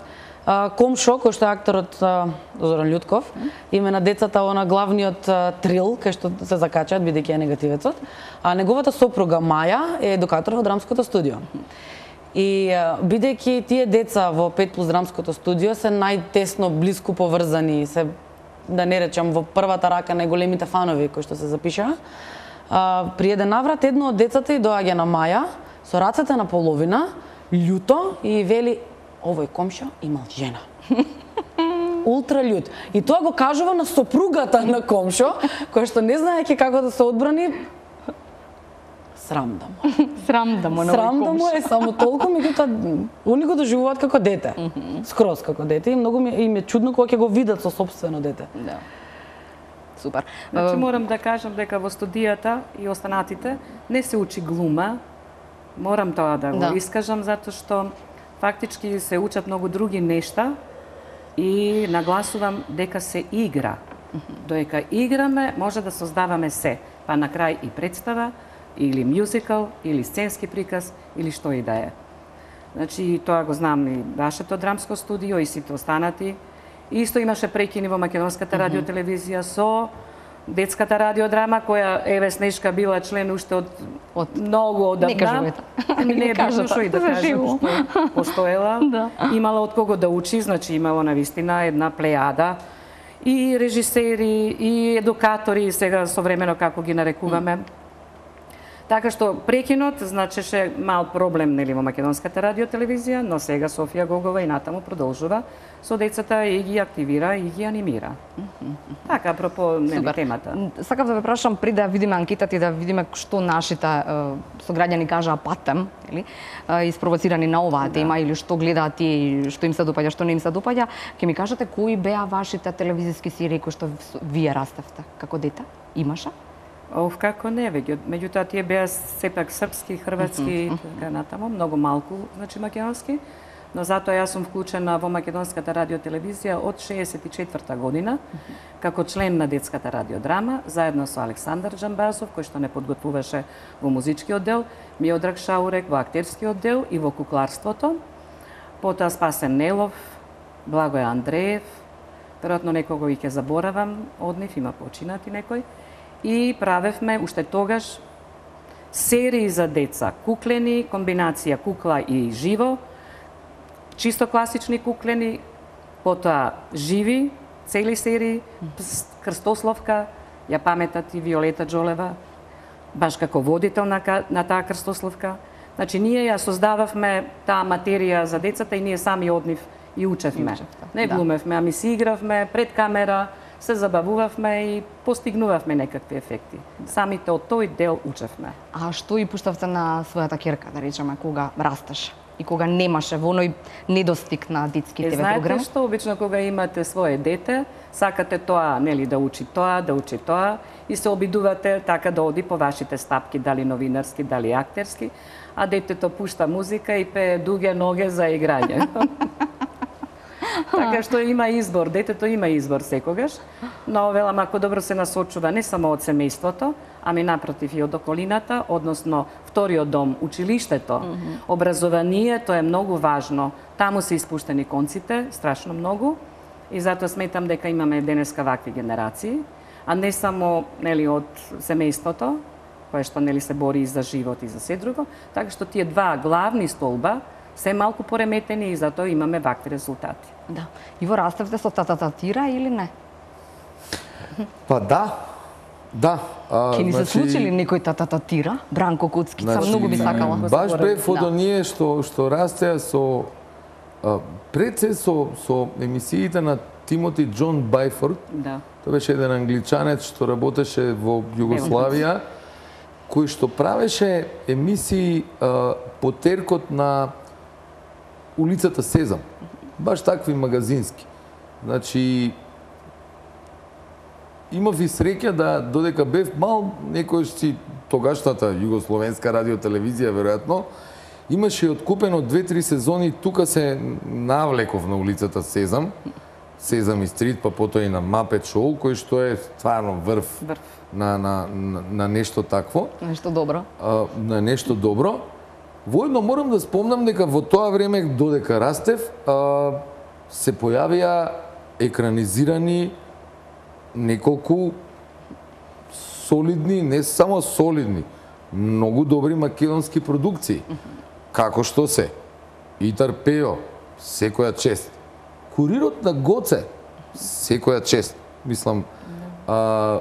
Комшо, кој што е акторот Зоран Љутков, име на децата она главниот трил, кај што се закачаат, бидејќи е негативецот, а неговата сопруга Маја е едукатор во драмското студио. И бидејќи тие деца во 5 плюс драмското студио се најтесно блиску поврзани, се да не речам во првата рака најголемите фанови кои што се запишаа. При еден наврат едно од децата и доаѓа на Маја со рацете на половина, љуто и вели овој комшо имал жена. Ултра љут. И тоа го кажува на сопругата на комшо, која што не знаејќи како да се одбрани, срам да му. Срам да му е само толку, меѓутоа они го доживуваат како дете. Скроз како дете и многу им е чудно кога ќе го видат со сопствено дете. Да. Супер. Значи морам да кажам дека во студијата и останатите не се учи глума. Морам тоа да го искажам затоа што фактички се учат многу други нешта и нагласувам дека се игра. Додека играме може да создаваме се, па на крај и представа или мюзикал, или сценски приказ, или што и да е. Значи, тоа го знам и вашето драмско студио и сите останати. Исто имаше прекини во македонската радиотелевизија со детската радиодрама, која Еве Снежка била член уште од многу одамна. Не кажувате. Не е битно што и да кажем, што постоела. Имала од кого да учи, значи имала навистина една плејада и режисери, и едукатори, сега современо како ги нарекуваме. Така што прекинот значеше мал проблем нели во македонската радиотелевизија, но сега Софија Гогова и натаму продолжува со децата и ги активира и ги анимира. Така, апропо нели темата. Сакав да ве прашам пред да видиме анкетата и да видиме што нашите сограѓани кажаа патем, нели, испровоцирани на оваа тема или што гледаат тие, што им се допаѓа, што не им се допаѓа, ќе ми кажете кои беа вашите телевизиски серии кои што вие растевте како дете? Имаше? Како не, меѓутоа тие беа сепак српски, хрватски и така натаму, многу малку, значи македонски, но затоа јас сум вклучена во македонската радиотелевизија од 64 година, како член на детската радиодрама, заедно со Александар Джамбазов, кој што не подготвуваше во музичкиот дел, Миодраг Шаурек во актерскиот дел и во кукларството, потоа Спасен Нелов, Благој Андреев, веројатно некого и ќе заборавам од нив, има починати некој, и правевме уште тогаш серии за деца, куклени, комбинација кукла и живо, чисто класични куклени, потоа живи, цели серии, Крстословка, ја паметат и Виолета Джолева, баш како водител на таа Крстословка. Значи, ние ја создававме таа материја за децата и ние сами од нив и учевме. Не глумевме, ами си игравме пред камера, се забавувавме и постигнувавме некакви ефекти. Самите од тој дел учевме. А што и пуштавте на својата ќерка, да речеме, кога растеше и кога немаше во оној недостиг на детски ТВ програм? Знаете што, обично кога имате свое дете, сакате тоа, нели, да учи тоа и се обидувате така да оди по вашите стапки, дали новинарски, дали актерски, а детето пушта музика и пее дуге ноге за играње. Така што има избор, детето има избор секогаш, но велам ако добро се насочува не само од семејството, ами напротив и од околината, односно вториот дом, училиштето, образованието е многу важно. Таму се испуштени конците, страшно многу, и затоа сметам дека имаме денеска вакви генерации, а не само нели од семејството, кое што нели се бори и за живот и за се друго, така што тие два главни столба се малку пореметени и затоа имаме вакви резултати. Да. Иво, растевте со татататира или не? Па да. Да. Ке ни се случили некој татататира? Бранко Куцкица, многу би сакала. Баш бев од оние што растеа со пред се со емисиите на Тимоти Џон Бајфорд. Да. Тоа беше еден англичанец што работеше во Југославија, кој што правеше емисии по теркот на улицата Сезам. Баш такви магазински. Значи, имав и среќа да додека бев мал, некојаш си тогашната југословенска радиотелевизија, веројатно, имаше откупено 2-3 сезони, тука се навлеков на улицата Сезам, Сезам и Стрит, па потоа и на Мапет Шоу, кој што е стварно врв на нешто такво. Нешто добро. На нешто добро. Воедно морам да спомнам дека во тоа време, додека растев, се појавија екранизирани неколку солидни, не само солидни, многу добри македонски продукции. Како што се И Тарпео, секоја чест. Курирот на Гоце, секоја чест. Мислам,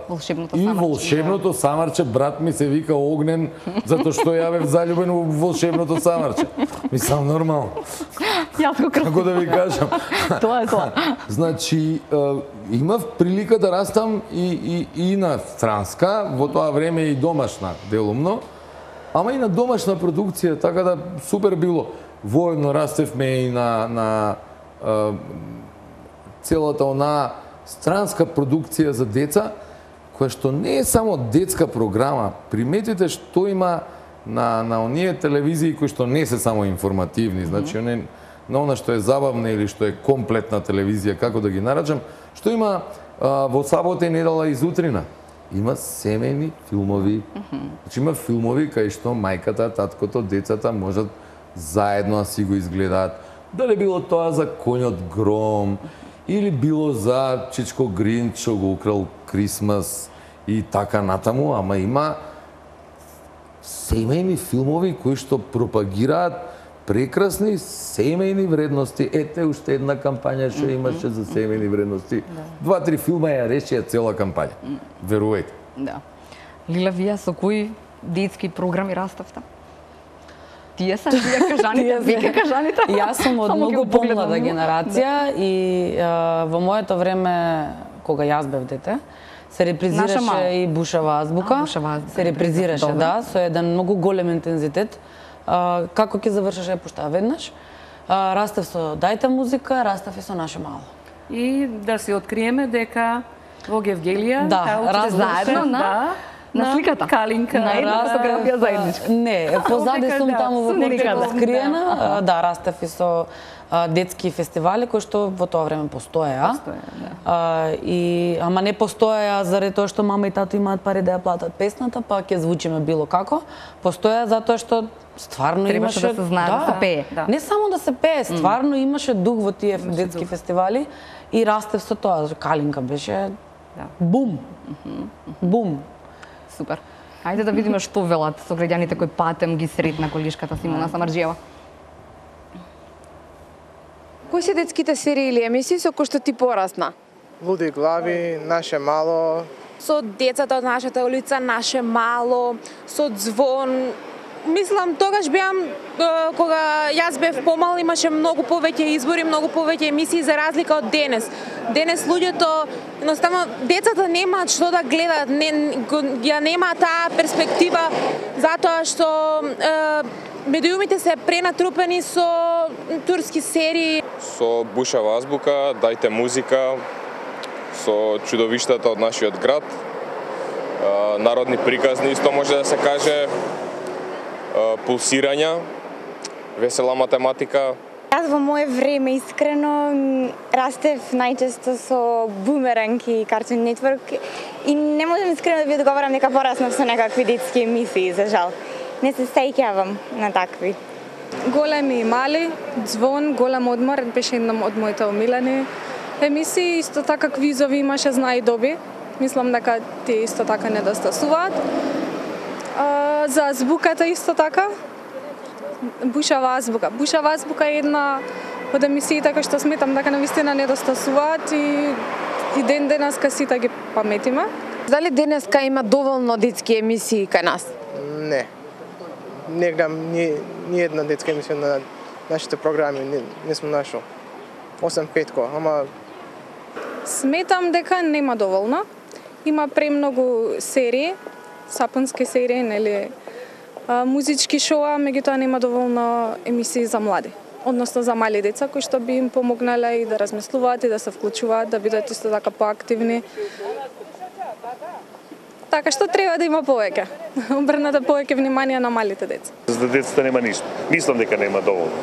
волшебното и самарче. волшебното самарче, брат ми се вика Огнен, затоа што ја бев залюбен во волшебното самарче. Мислам, нормално. Јас го Како да ви кажам. Тоа е тоа. Значи, имав прилика да растам и на странска, во тоа време и домашна, делумно, ама и на домашна продукција, така да супер било. Воедно растевме и на целата онаа странска продукција за деца, која што не е само детска програма. Приметите што има на оние телевизии кои што не се само информативни, значи на она што е забавна или што е комплетна телевизија, како да ги нарачам, што има во сабота и недела и зутрина. Има семејни филмови. Значи има филмови кај што мајката, таткото, децата можат заедно да си го изгледаат. Дали било тоа за Коњот Гром, или било за Чичко Гринч што го украл Крисмас и така натаму, ама има семејни филмови кои што пропагираат прекрасни семејни вредности. Ете уште една кампања што имаше за семејни вредности. 2-3 филма ја решија цела кампања. Верувајте. Да. Лила, вие со кои детски програми раставте? Тие се вие кажаните? Јас сум од многу помлада генерација и во моето време, кога јас бев дете, се репризираше и Бушава азбука. Се репризираше, да, со еден многу голем интензитет. Како ќе завршеше пушта веднаш? Растев со Дајте музика, растев и со Наше мало. И да се откриеме дека во Гевгелија, заедно на сликата. Калинка. На една фотографија заедничка. Не, позади сум таму во некаде скриена. Да, растев и со детски фестивали кои што во тоа време постоеа. Ама не постоеа заради тоа што мама и тато имаат пари да ја платат песната, па ќе звучиме било како. Постоеа затоа што стварно требаше имаше да се знае да се пее. Не само да се пее, стварно имаше дух во тие детски фестивали и растев со тоа. Калинка беше бум. Бум. Супер. Ајде да видиме што велат сограѓаните кои патем ги сретна колишката Симона Самарџиева. Кои се детските серии или емисии со кои што ти порасна? Луди глави, Наше мало. Со децата од нашата улица, Наше мало, со Звон. Мислам, тогаш беам, кога јас бев помал, имаше многу повеќе избори, многу повеќе емисии за разлика од денес. Денес луѓето, едноставно, децата немаат што да гледат, ја немаат таа перспектива, затоа што медиумите се пренатрупени со турски серии. Со Бушава азбука, Дајте музика, со чудовиштата од нашиот град, народни приказни, исто може да се каже, пулсирања, весела математика. Јас во моје време искрено растев најчесто со Бумеранг и Cartoon Network и не можам искрено да ви одговорам дека пораснав со некакви детски емисии, за жал. Не се сеќавам на такви. Големи и мали, Звон, Голем одмор беше една од моите омилени емисии, исто така квизови имаше Знай и доби. Мислам дека тие исто така недостасуваат. За азбуката исто така. Бушава азбука. Бушава азбука е една од емисиите кои што сметам дека навистина недостасуваат и ден денеска сите ги паметиме. Дали денеска има доволно детски емисии кај нас? Не. Не гледам ни една детска емисија на нашите програми, не сум нашол. 8-5, ама сметам дека нема доволно. Има премногу серии, сапунски серии, нели, музички шоа, меѓутоа нема доволно емисии за млади, односно за мали деца кои што би им помогнале и да размислуваат и да се вклучуваат, да бидат исто така поактивни. Така што треба да има повеќе. Обрнете повеќе внимание на малите деца. За децата нема ништо. Мислам дека нема доволно.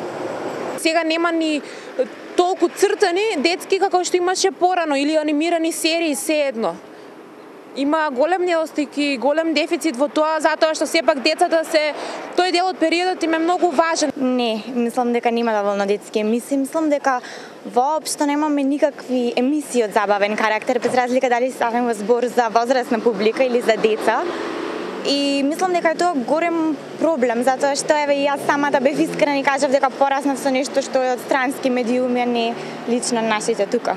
Сега нема ни толку цртани детски како што имаше порано или анимирани серии, се едно. Има голем недостиг и голем дефицит во тоа, затоа што сепак децата се, тој дел од периодот им е многу важен. Не, мислам дека нема доволно детски емисии, мислам дека воопшто немаме никакви емисии од забавен карактер, без разлика дали ставаме збор за возрастна публика или за деца. И мислам дека е тоа голем проблем, затоа што еве и јас самата бев искрена и кажав дека пораснав со нешто што е од странски медиуми, а не лично нашите тука.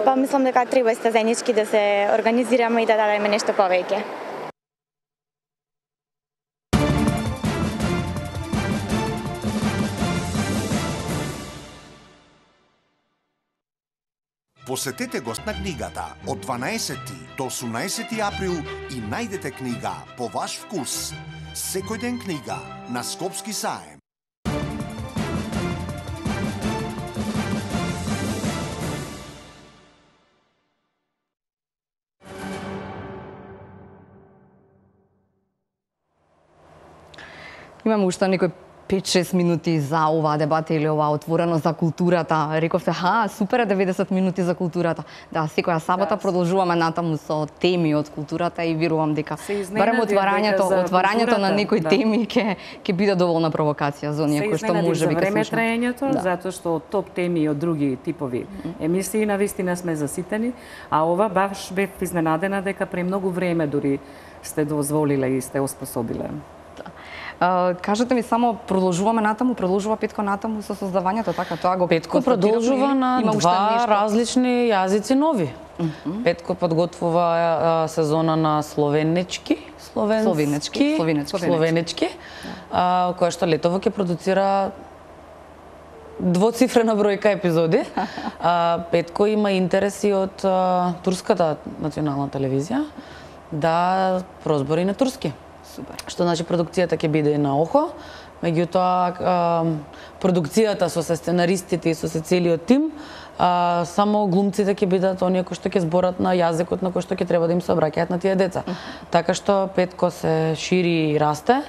Па мислам дека треба исто заеднички да се организираме и да дадеме нешто повеќе. Посетете гост на книгата од 12 до 18 април и најдете книга по ваш вкус. Секој ден книга на Скопски саем. Имаме уште некој 5-6 минути за оваа дебата или оваа отворено за културата. Рековте, супер е 90 минути за културата. Да, секоја сабота продолжуваме натаму со теми од културата и верувам дека барем отварањето на некои теми ќе биде доволна провокација за оние кои што може би ќе слушнат. Време траењето, затоа што од топ теми и од други типови емисии навистина сме заситени, а ова баш бев изненадена дека премногу време дури сте дозволиле и сте оспособиле. Кажете ми само, продолжува Петко натаму со создавањето, така тоа го Петко продолжува на два различни јазици нови. Петко подготвува сезона на словенечки, која што летово ќе продуцира двоцифрена бројка епизоди. Петко има интереси од турската национална телевизија да прозбори на турски. Супер. Што значи продукцијата ќе биде на охо, меѓутоа продукцијата со се сценаристите и со се целиот тим, само глумците ќе бидат оние кои што ќе зборат на јазикот на кој што ќе треба да им се обраќаат на тие деца. Така што Петко се шири и расте.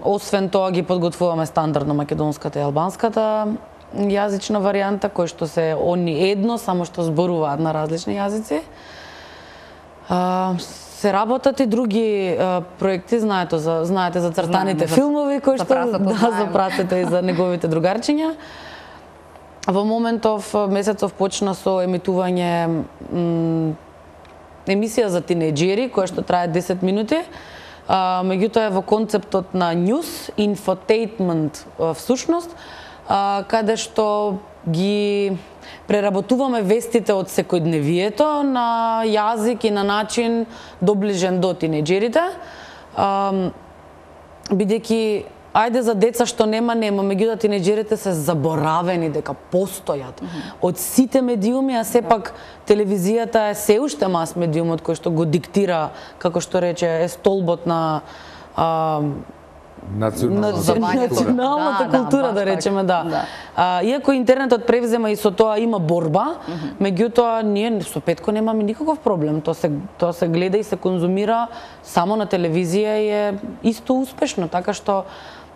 Освен тоа ги подготвуваме стандардно македонската и албанската јазична варијанта, кои што се они едно, само што зборуваат на различни јазици. Се работат и други проекти, знаете за цртаните филмови кои што за прасето и за неговите другарчиња. Во моментов месецов почна со емитување емисија за тинејџери која што трае 10 минути. Меѓутоа е во концептот на news, infotainment всушност, каде што ги преработуваме вестите од секојдневието на јазик и на начин доближен до тинејџерите, бидејќи ајде за деца што нема, меѓутоа тинејџерите се заборавени дека постојат од сите медиуми, а сепак телевизијата е се уште мас медиумот кој што го диктира, како што рече, е столбот на националната култура, да речеме, да. Иако интернетот превзема и со тоа има борба, меѓутоа ние со Петко немаме никаков проблем. Тоа се гледа и се конзумира само на телевизија и е исто успешно, така што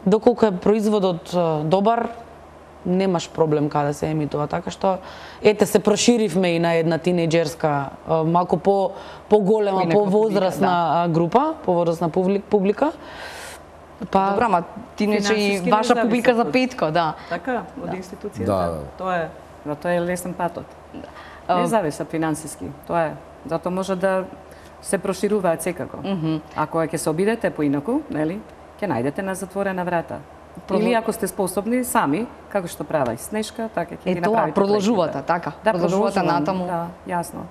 доколку е производот добар, немаш проблем каде се емитува, така што ете се проширивме и на една тинејџерска, малку поголема, повозрасна група, повозрасна публика. Добра, ама тинејџер и ваша публика за Петко, да. Така, од институцијата. Тоа е лесен патот. Не зависа финансиски, тоа е. Затоа може да се прошируваат секако. Ако ќе се обидете поинаку, нели, ќе најдете на затворена врата. Или ако сте способни сами, како што права и Снежка, така ќе ги направите. Продолжувате, така. Да, продолжувате натаму. Да, јасно.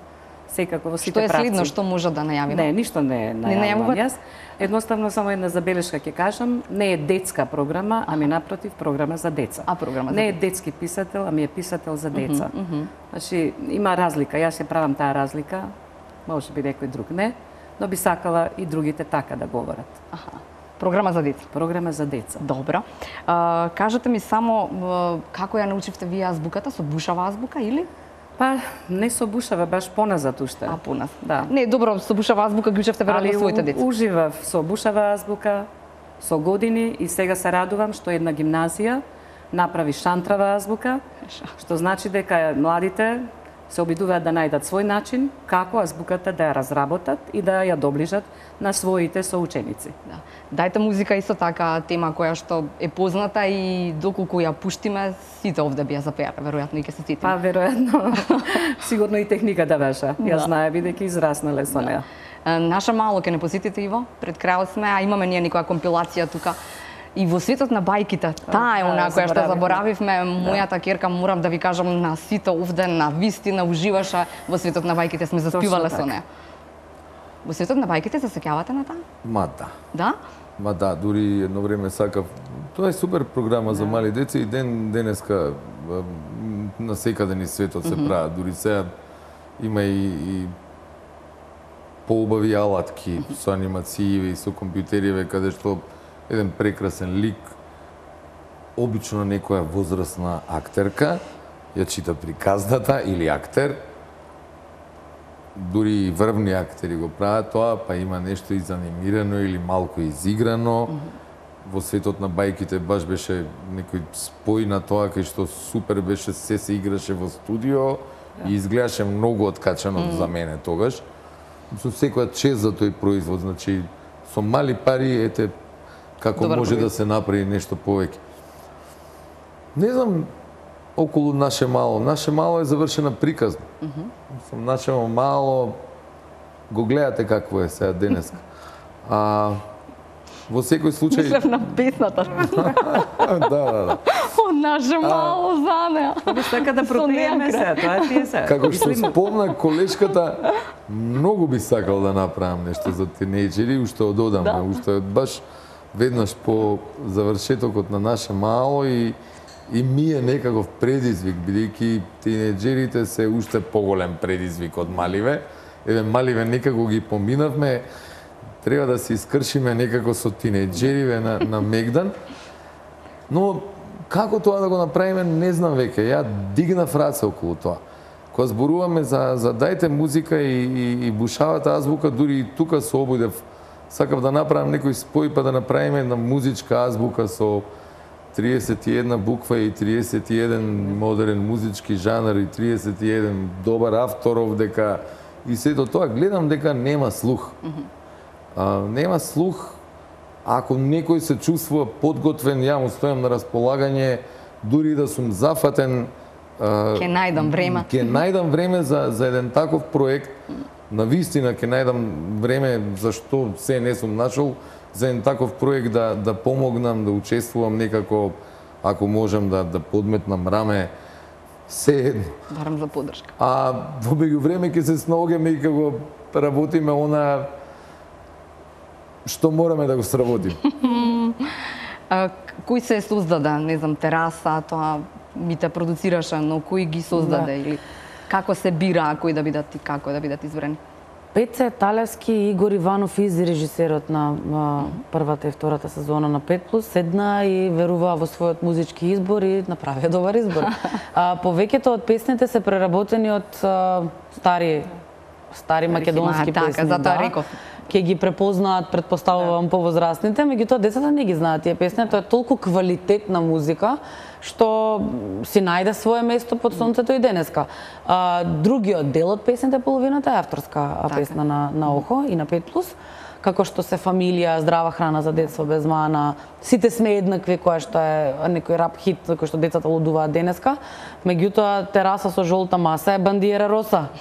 Секако во сите правци. Што е следно, правци. што може да најавиме? Не, ништо не најавувам јас. Едноставно само една забелешка ќе кажам, не е детска програма, ами напротив програма за деца. Програма за не е детски писател, ами е писател за деца. Значи има разлика, јас ја правам таа разлика, може би некој друг не, но би сакала и другите така да говорат. Програма за деца. Програма за деца. Добро. Кажете ми само како ја научивте вие азбуката, со бушава азбука или? Па, не со бушава, баш поназад уште. Поназад. Да. Не, добро, со бушава азбука ги учевте веројатно своите деца. Уживав со бушава азбука, со години и сега се радувам што една гимназија направи шантрава азбука, што значи дека младите се обидуваат да најдат свој начин како азбуката да ја разработат и да ја доближат на своите соученици. Да. Дајте музика исто така тема која што е позната и доколку ја пуштиме, сите овде би ја запеале, веројатно и ќе се сетиме. Па веројатно. Сигурно и техниката беше. Ја знае бидејќи израснале со неа. Наша мало ќе не посетите, Иво, пред крајот сме, а имаме ние некоја компилација тука. И во светот на бајките, таа е она која што заборавивме, мојата керка, морам да ви кажам, на сите овде, на вистина уживаше во светот на бајките, сме заспивале со неа. Во светот на бајките се сеќавате на таа? Ма да. Да? Ма да, дури едно време сакав. Тоа е супер програма за мали деца и денеска на секаде низ светот се прават. Дури сега има и поубави алатки со анимацији и со компјутериве каде што еден прекрасен лик, обично некоја возрастна актерка ја чита приказната или актер, дури и врвни актери го прават тоа, па има нешто изанимирано или малку изиграно. Во светот на бајките баш беше некој спој на тоа кај што супер беше, се играше во студио и изгледаше многу откачано за мене тогаш. Со секоја чест за тој производ, значи со мали пари ете како може да се направи нешто повеќе. Не знам околу Наше мало. Наше мало е завршена приказна. Наше мало го гледате какво е сега денеска. Во секој случај... Мислев на песната. Да. Од Наше мало за неа. Така да пропееме се, тоа е тие се. Како што спомна колешката, многу би сакал да направам нешто за тинејџери, уште ододамна, уште баш веднаш по завршетокот на Наше мало и ми е некаков предизвик, бидејќи тинејџерите се уште поголем предизвик од маливе. Еве маливе некако ги поминавме, треба да се искршиме некако со тинејџериве на Мегдан. Но како тоа да го направиме, не знам веќе. Ја дигнав раце околу тоа. Кога зборуваме за дајте музика и бушавата азбука, дури и тука се обидев. Сакав да направам некој спој па да направиме една музичка азбука со 31 буква и 31 модерен музички жанр и 31 добар авторов, дека и сето тоа гледам дека нема слух. Нема слух. Ако некој се чувствува подготвен, ја му стојам на располагање, дури да сум зафатен. Ке најдам време. Ке најдам време за еден таков проект. На вистина ке најдам време, зашто се не сум нашол, за еден таков проект да помогнам, да учествувам некако, ако можам да подметнам раме, се едно. Барам за поддршка. А во меѓувреме ќе се снаоѓаме и како работиме она што мораме да го сработим. Кој се создаде, не знам, тераса, тоа ми те продуцираше, но кој ги создаде или како се бира кој да бидат и како да бидат избрани? Пеце Талевски и Игор Иванов, и режисерот на првата и втората сезона на 5+, седна и веруваа во својот музички избор и направија добар избор. Повеќето од песните се преработени од стари македонски песни. Така, затоа реков. Ке ги препознаат, предпоставувам, повозрастните, меѓутоа децата не ги знаат тие песни, тоа е толку квалитетна музика што си најде свое место под сонцето и денеска. Другиот дел од песните, половината е авторска песна на Охо и на 5+, како што се Фамилија, Здрава храна за детство без мана, Сите сме еднакви, која што е некој рап хит кој што децата лудуваат денеска, меѓутоа Тераса со жолта маса е Бандиера роса.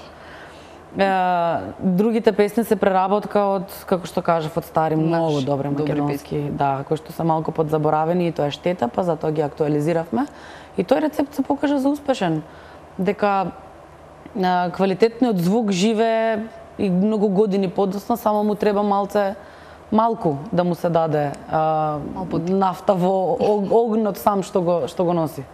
Другите песни се преработка од, како што кажав, од стари, многу добри македонски, да, кои што се малку подзаборавени и тоа е штета, па затоа ги актуализиравме. И тој рецепт се покажа за успешен, дека квалитетниот звук живее и многу години подоцна, само му треба малку да му се даде нафта во огнот сам што го носи.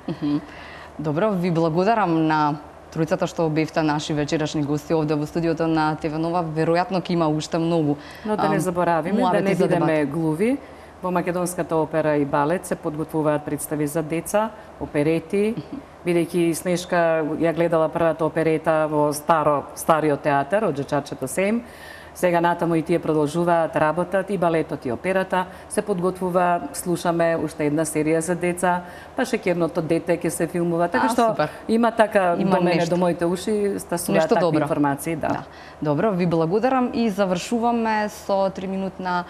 Добро, ви благодарам на тројцата што бевте наши вечерашни гости овде во студиото на ТВ Нова. Веројатно ќе има уште многу. Но да не заборавиме, да не бидеме глуви. Во Македонската опера и балет се подготвуваат представи за деца, оперети, бидејќи Снежка ја гледала првата оперета во стариот театар од Джачачето Сем. Сега натаму и тие продолжуваат, работат и балетот и операта, се подготвува, слушаме уште една серија за деца, па Шекерното дете ќе се филмува, така што има така до мене, до моите уши, стасуваат такви информации, да. Добро, ви благодарам и завршуваме со 3-минутна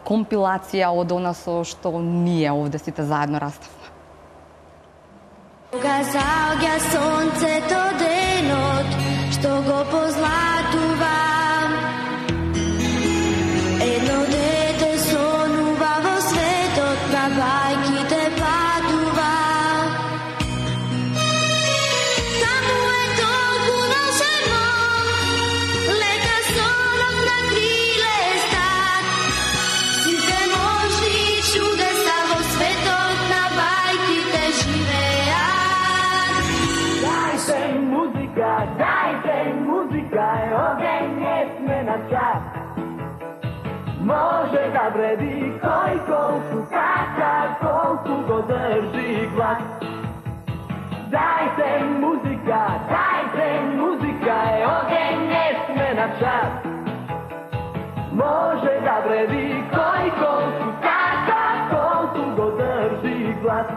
компилација од она со што ние овде сите заедно раставме. Кога заоѓа сонцето денот, што го позлатува, dajte muzika, ogień jest my na czas. Może da vredi koji kolku kača, kolku go drži glas. Dajte muzika, ogień jest my na czas. Može da vredi koji kolku kača, kolku go drži glas.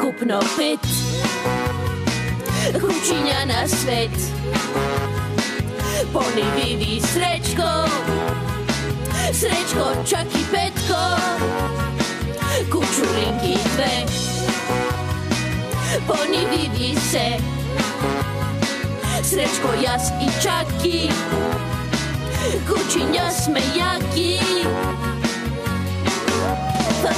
Kupno pet kućinja na svet. Poni vidi Srećko čak i Petko, kućulinki dve. Poni vidi se Srećko, jas i Čaki, kućinja sme jaki. Pa